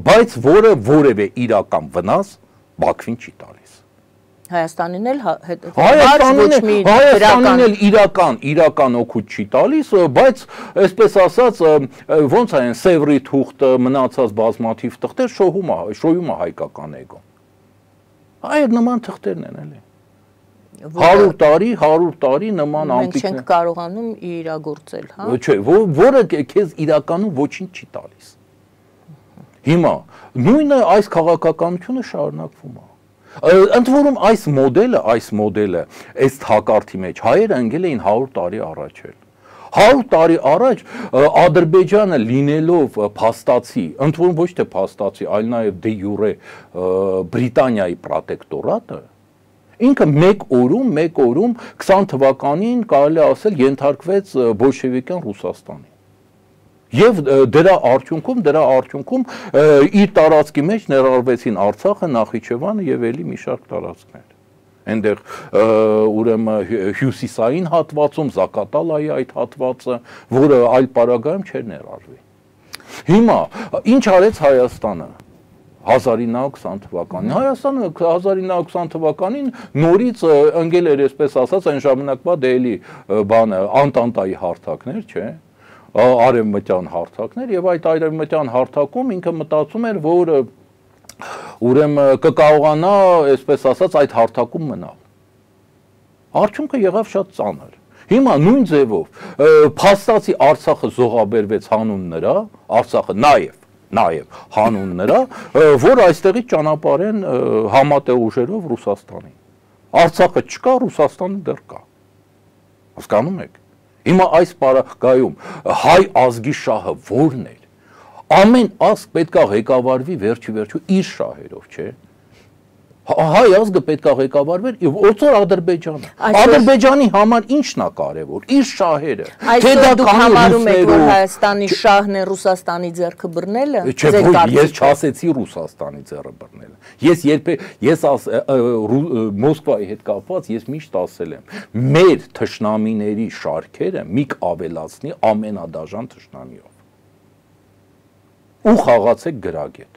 բայց որը որևէ իրական վնաս Բաքվին չի տալիս։ Հայաստանին էլ Հայաստանին էլ իրական, իրական օգուտ չի տալիս, բայց այսպես ասած, ոնց է Սևրի թուղթը, մնացած բազմաթիվ թղթեր շոյում է, շոյում է հայկական էգոն։ Այդ նման թղթերն են էլի։ հարյուր տարի, հարյուր տարի նման ամպիկներ։ Մենք չենք կարողանում իրագործել, հա։ Չէ, որը քեզ իրականում ոչինչ չի տալիս։ Հիմա նույնը այս քաղաքականությունը շարունակվում է։ Ընդ որում այս մոդելը, այս մոդելը, այս հակարդի մեջ հայերը ընկել էին հարյուր տարի առաջ էլ։ հարյուր տարի առաջ Ադրբեջանը լինելով փաստացի, ընդ որում ոչ թե փաստացի, այլ նաև դե յուրե Բրիտանիայի պրոտեկտորատը, ինքը մեկ օրում, մեկ օրում քսան թվականին կարելի ասել ենթարկվեց բոլշևիկյան Ռուսաստանի։ Եվ դրա արդյունքում, դրա արդյունքում իր տարածքի մեջ ներառվեցին Արցախը, Նախիջևանը եւ ելի մի շարք տարածքներ։ Այնտեղ ուրեմն հյուսիսային հատվածում Զակատալայի այդ հատվածը, որը այլ պարագայում չէր ներառվի։ Հիմա ինչ արեց Հայաստանը հազար ինը հարյուր քսան թվականին։ Հայաստանը հազար ինը հարյուր քսան թվականին նորից ընկել էր, այսպես ասած, այն ժամանակվա դելի բանը Անտանտայի հարթակներ, չէ՞։ Արևմտյան հարթակներ եւ այդ արևմտյան հարթակում ինքը մտածում էր, որ ուրեմն կկարողանա, այսպես ասած, այդ հարթակում մնալ։ Արդյունքը եղավ շատ ծանր։ Հիմա նույն ձևով փաստացի Արցախը զոհաբերվեց հանուն նրա, Արցախը նաեւ նաեւ հանուն նրա, որ այստեղից ճանապարհեն համատեղ ուժերով Ռուսաստանին։ Արցախը չկա, Ռուսաստանը դեռ կա։ Հասկանում եք։ Հիմա այս պարագայում հայ ազգի շահը ո՞րն էր։ Ամեն ազգ պետք է ղեկավարվի վերջի վերջու իր շահերով, չէ։ Հայ ազգը պետք է ղեկավարվեր եւ ոցոր Ադրբեջանը։ Ադրբեջանի համար ի՞նչն է կարեւոր։ Իր շահերը։ Այսօր դուք համարում եք, որ Հայաստանի շահն է Ռուսաստանի ձեռքը բռնելը։ Ես չասեցի Ռուսաստանի ձեռքը բռնելը։ Ես երբեք ես Մոսկվայի հետ կապված ես միշտ ասել եմ, մեր թշնամիների շարքերը միք ավելացնի ամենադաժան թշնամիով։ Ու խաղացեք գրագետ։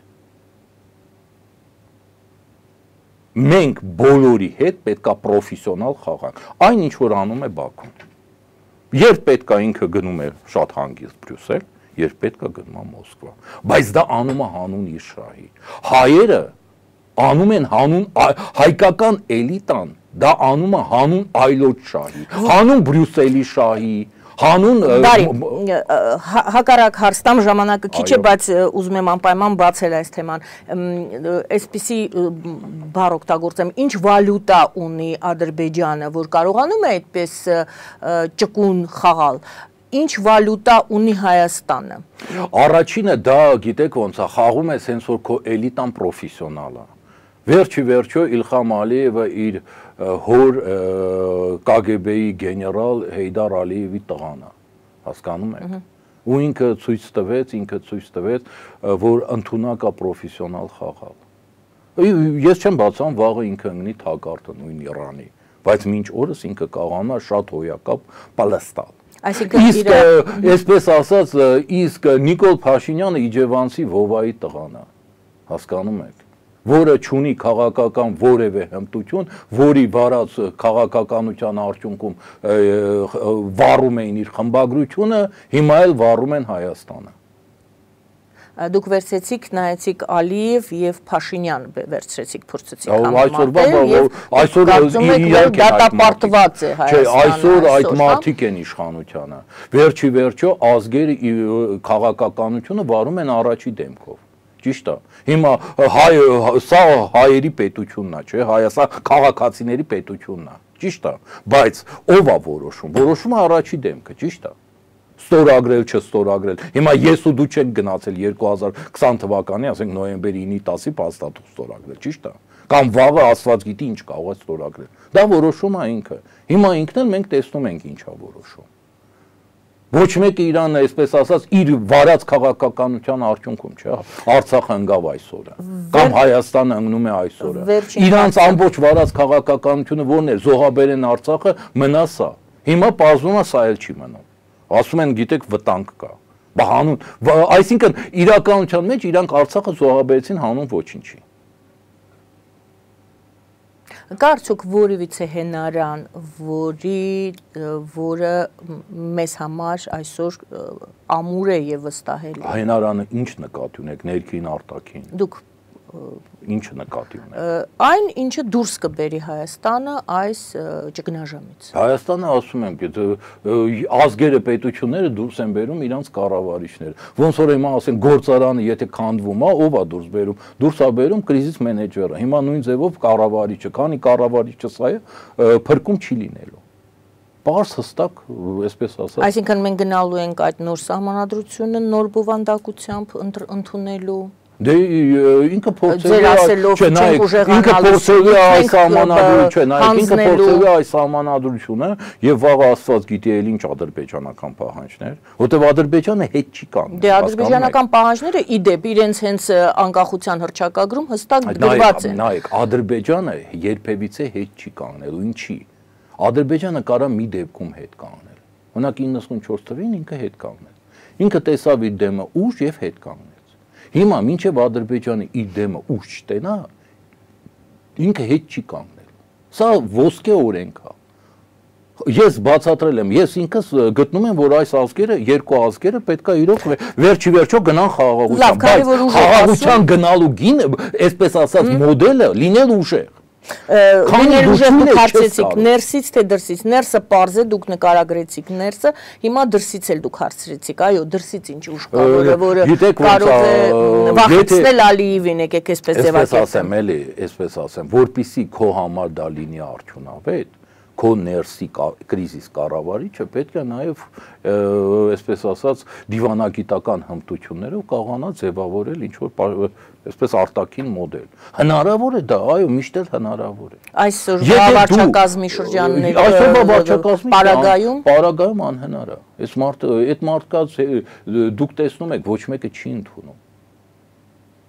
Մենք բոլորի հետ պետք է պրոֆեսիոնալ խաղանք։ Այն ինչ որ անում է Բաքուն։ Երբ պետք է ինքը գնում է շատ հանգիստ Բրյուսել, երբ պետք է գնում է Մոսկվա։ Բայց դա անում է հանուն իր շահի։ Հայերը անում են հանուն հայկական էլիտան, դա անում է հանուն այլոց շահի, հանուն Բրյուսելի շահի, հանուն հակառակ հարցտամ ժամանակը քիչ է, բայց ուզում եմ անպայման բացել այս թեման։ Այսպիսի բառ օգտագործեմ, ինչ վալյուտա ունի Ադրբեջանը, որ կարողանում է այդպես ճկուն խաղալ։ Ինչ վալյուտա ունի Հայաստանը։ Առաջինը դա գիտեք ոնց է, խաղում է սենց որ քո էլիտան պրոֆեսիոնալ է։ Վերջի վերջո Իլխամ Ալիևը իր հոր Կ Գ B-ի գեներալ Հեյդար Ալիևի տղան է, հասկանում եք։ Ու ինքը ցույց տվեց, ինքը ցույց տվեց, որ ընդունակ է պրոֆեսիոնալ խաղալ։ Ես չեմ բացում վաղը ինքը ընկնի թակարդը նույն Իրանի, բայց մինչ օրս ինքը կարողանում է շատ հոյակապ պալստալ։ Իսկ այսպես ասած, իսկ Նիկոլ Փաշինյանը Իջևանցի Վովայի տղան է, հասկանում եք, որը չունի քաղաքական որևէ հմտություն, որի վարած քաղաքականության արդյունքում վառում էին իր խմբագրությունը, հիմա էլ վառում են Հայաստանը։ Դուք վերցրեցիք, նայեցիք Ալիև եւ Փաշինյան վերցրեցիք, փորձեցիք համեմատել եւ այսօր իրանք դատապարտված է Հայաստանը։ Չէ, այսօր այդ մարդիկ են իշխանությանը։ Վերջի վերջո ազգերի քաղաքականությունը վարում են առաջի դեմքով։ Ճիշտ է։ Հիմա հայ սա հայերի պետությունն է, չէ՞, Հայաստան քաղաքացիների պետությունն է։ Ճիշտ է, բայց ով է որոշում։ Որոշումը առաջի դեմքը, ճիշտ է։ Ստորագրել, չստորագրել։ Հիմա ես ու դու չենք գնացել երկու հազար քսան թվականի, ասենք նոյեմբերի ինի տասի փաստաթուղթ ստորագրել, ճիշտ է։ Կամ վաղը Աստված գիտի ինչ կարող է ստորագրել։ Դա որոշում է ինքը։ Հիմա ինքն էլ մենք տեսնում ենք ինչ է որոշում։ Ոչ մեկը Իրանը, այսպես ասած, իր վարած քաղաքականության արդյունքում, չէ՞, Արցախը ընկավ այսօրը, կամ Հայաստանը ընկնում է այսօրը։ Իրանց ամբողջ վարած քաղաքականությունը ո՞րն է, զոհաբերեն Արցախը մնաս է։ Հիմա պարզվում է սա էլ չի մնում։ Ասում են, գիտեք, վտանգ կա։ Բա հանուն, այսինքն իրականության մեջ իրանք Արցախը զոհաբերեցին հանուն ոչինչի։ Կարծուք որևիցե հենարան, որի որը մեզ համար այսօր ամուր է եւ վստահելի։ Հենարանը ինչ նկատի ունեք, ներքին, արտաքին։ Դուք Ինչ նկատի ունեք։ Այն ինչը դուրս կբերի Հայաստանը այս ճգնաժամից։ Հայաստանը ասում եմ, ազգերը պետությունները դուրս են բերում իրանց կառավարիչները։ Ոնց որ հիմա ասեն գործարանը եթե քանդվում է, ով է դուրս բերում։ Դուրս է բերում կրիզիս մենեջերը։ Հիմա նույն ձևով կառավարիչը, քանի կառավարիչը սա է, փրկում չի լինելու։ Պարզ հստակ, այսպես ասած։ Այսինքն մենք գնալու ենք այդ նոր սահմանադրությունը նոր բովանդակությամբ ընդունելու։ Դե ինքը փորձել է, չէ, նայեք, ինքը փորձել է այս սահմանադրությունը, նայեք, ինքը փորձել է այս սահմանադրությունը եւ վաղը Աստված գիտի էլ ինչ ադրբեջանական պահանջներ, որտեւ Ադրբեջանը հետ չի կանգնել։ Դե ադրբեջանական պահանջները ի դեպ իրենց հենց անկախության հռչակագրում հստակ գրված են։ Նայեք, Ադրբեջանը երբևիցե հետ չի կանգնելու, ինչի։ Ադրբեջանը կարա մի դեպքում հետ կանգնել։ Օրինակ իննսունչորս թվականին ինքը հետ կանգնել։ Ինքը տեսավ իր դեմը ուժ եւ հետ կանգնել։ Հիմա մինչև Ադրբեջանը իր դեմը ուժ չտենա, ինքը հետ չի կանգնել։ Սա ոսկե օրենք է։ Ես բացատրել եմ, ես ինքս գտնում եմ, որ այս ազգերը, երկու ազգերը պետք է իրոք վերջի վերջո գնան խաղաղության, բայց խաղաղության գնալու գինը, այսպես ասած, մոդելը լինել ուժեղ։ Քանի ուժեղ դուք հարցրեցիք ներսից թե դրսից, ներսը պարզ է, դուք նկարագրեցիք ներսը, հիմա դրսից էլ դուք հարցրեցիք, այո, դրսից ինչ ուժ կա, որը կարող է վախեցնել Ալիևին, եկեք այսպես ձևակերպել։ Այսպես ասեմ, էլի, այսպես ասեմ, որպեսզի քո համար դա լինի արդյունավետ, քո ներսի կրիզիս կառավարիչը պետք է նաև այսպես ասած դիվանագիտական հմտություններով կարողանա ձևավորել ինչ որ այսպես արտաքին մոդել։ Հնարավոր է դա, այո, միշտ էլ հնարավոր է։ Այսօրվա վարչակազմի շրջանների այսօրվա վարչակազմի պարագայում պարագայում անհնար է։ Այս մարդը, այդ մարդկაც դուք տեսնում եք, ոչ մեկը չի ընդունում։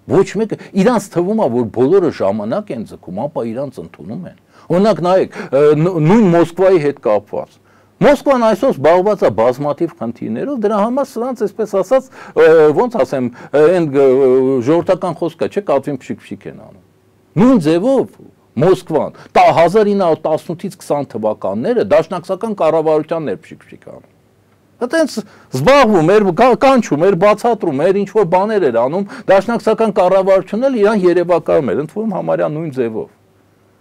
Ոչ մեկը իրանց թվում է, որ բոլորը ժամանակ են ձգում, ապա իրանց ընդունում են։ Օրինակ նայեք, նույն Մոսկվայի հետ կապված։ Մոսկվան այսօր զբաղված է բազմաթիվ խնդիրներով, դրա համար սրանց այսպես ասած, ոնց ասեմ, այն ժողովրդական խոսքը չէ, կատվին փշիկ-փշիկ են անում։ Նույն ձևով Մոսկվան հազար ինը հարյուր տասնութից քսան թվականները դաշնակցական կառավարությանն էր փշիկ-փշիկ անում։ Այդտենց զբաղվում էր, կանչում էր, բացատրում էր, ինչ որ բաներ էր անում, դաշնակցական կառավարությունն էլ իրան երևակայում էր, ընդվում համարյա նույն ձևով։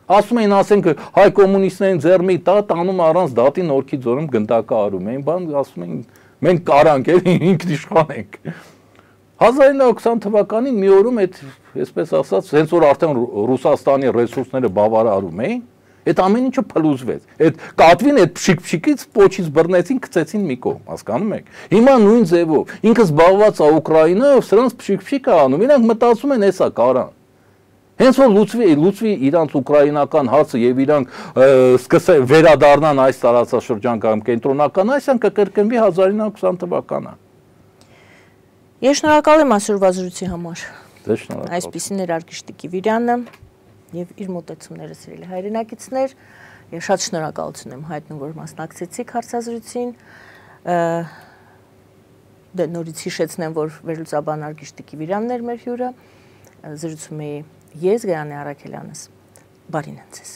Ասում էին, ասենք, հայ կոմունիստներին ձեռմի տա, տանում առանց դատի Նորքի ձորում գնդակը արում էին, բան ասում էին, մենք կարանք էլ ինքնիշխան ենք։ հազար ինը հարյուր քսան թվականին մի օրում այդ, այսպես ասած, հենց որ արդեն Ռուսաստանի ռեսուրսները բավարարում էին, այդ ամեն ինչը փլուզվեց։ Այդ կատվին այդ փշիկ-փշիկից պոչից բռնեցին, գցեցին մի կողմ, հասկանում եք։ Հիմա նույն ձևով, ինքը զբաղված է Ուկրաինայով, սրանց փշիկ-փշիկ է անում, իրանք մտածում են էսա կարան։ Հենց որ լուծվի, լուծվի իրանց ուկրաինական հարցը եւ իրանք սկսեն վերադառնան այս տարածաշրջան կամ կենտրոնական Ասիան, կկրկնվի հազար ինը հարյուր քսան թվականը։ Ես շնորհակալ եմ այսօրվա զրույցի համար։ Դե շնորհակալ։ Այսպիսին էր Արգիշտի Կիվիրյանը եւ իր մտածումները սիրելի հայրենակիցներ։ Ես շատ շնորհակալություն եմ հայտնում, որ մասնակցեցիք հարցազրույցին։ Դե նորից հիշեցնեմ, որ վերլուծաբան Արգիշտի Կիվիրյանն էր մեր հյուրը։ Զրուցում էի ես Գայանե Առաքելյանս, բարին ընձեզ։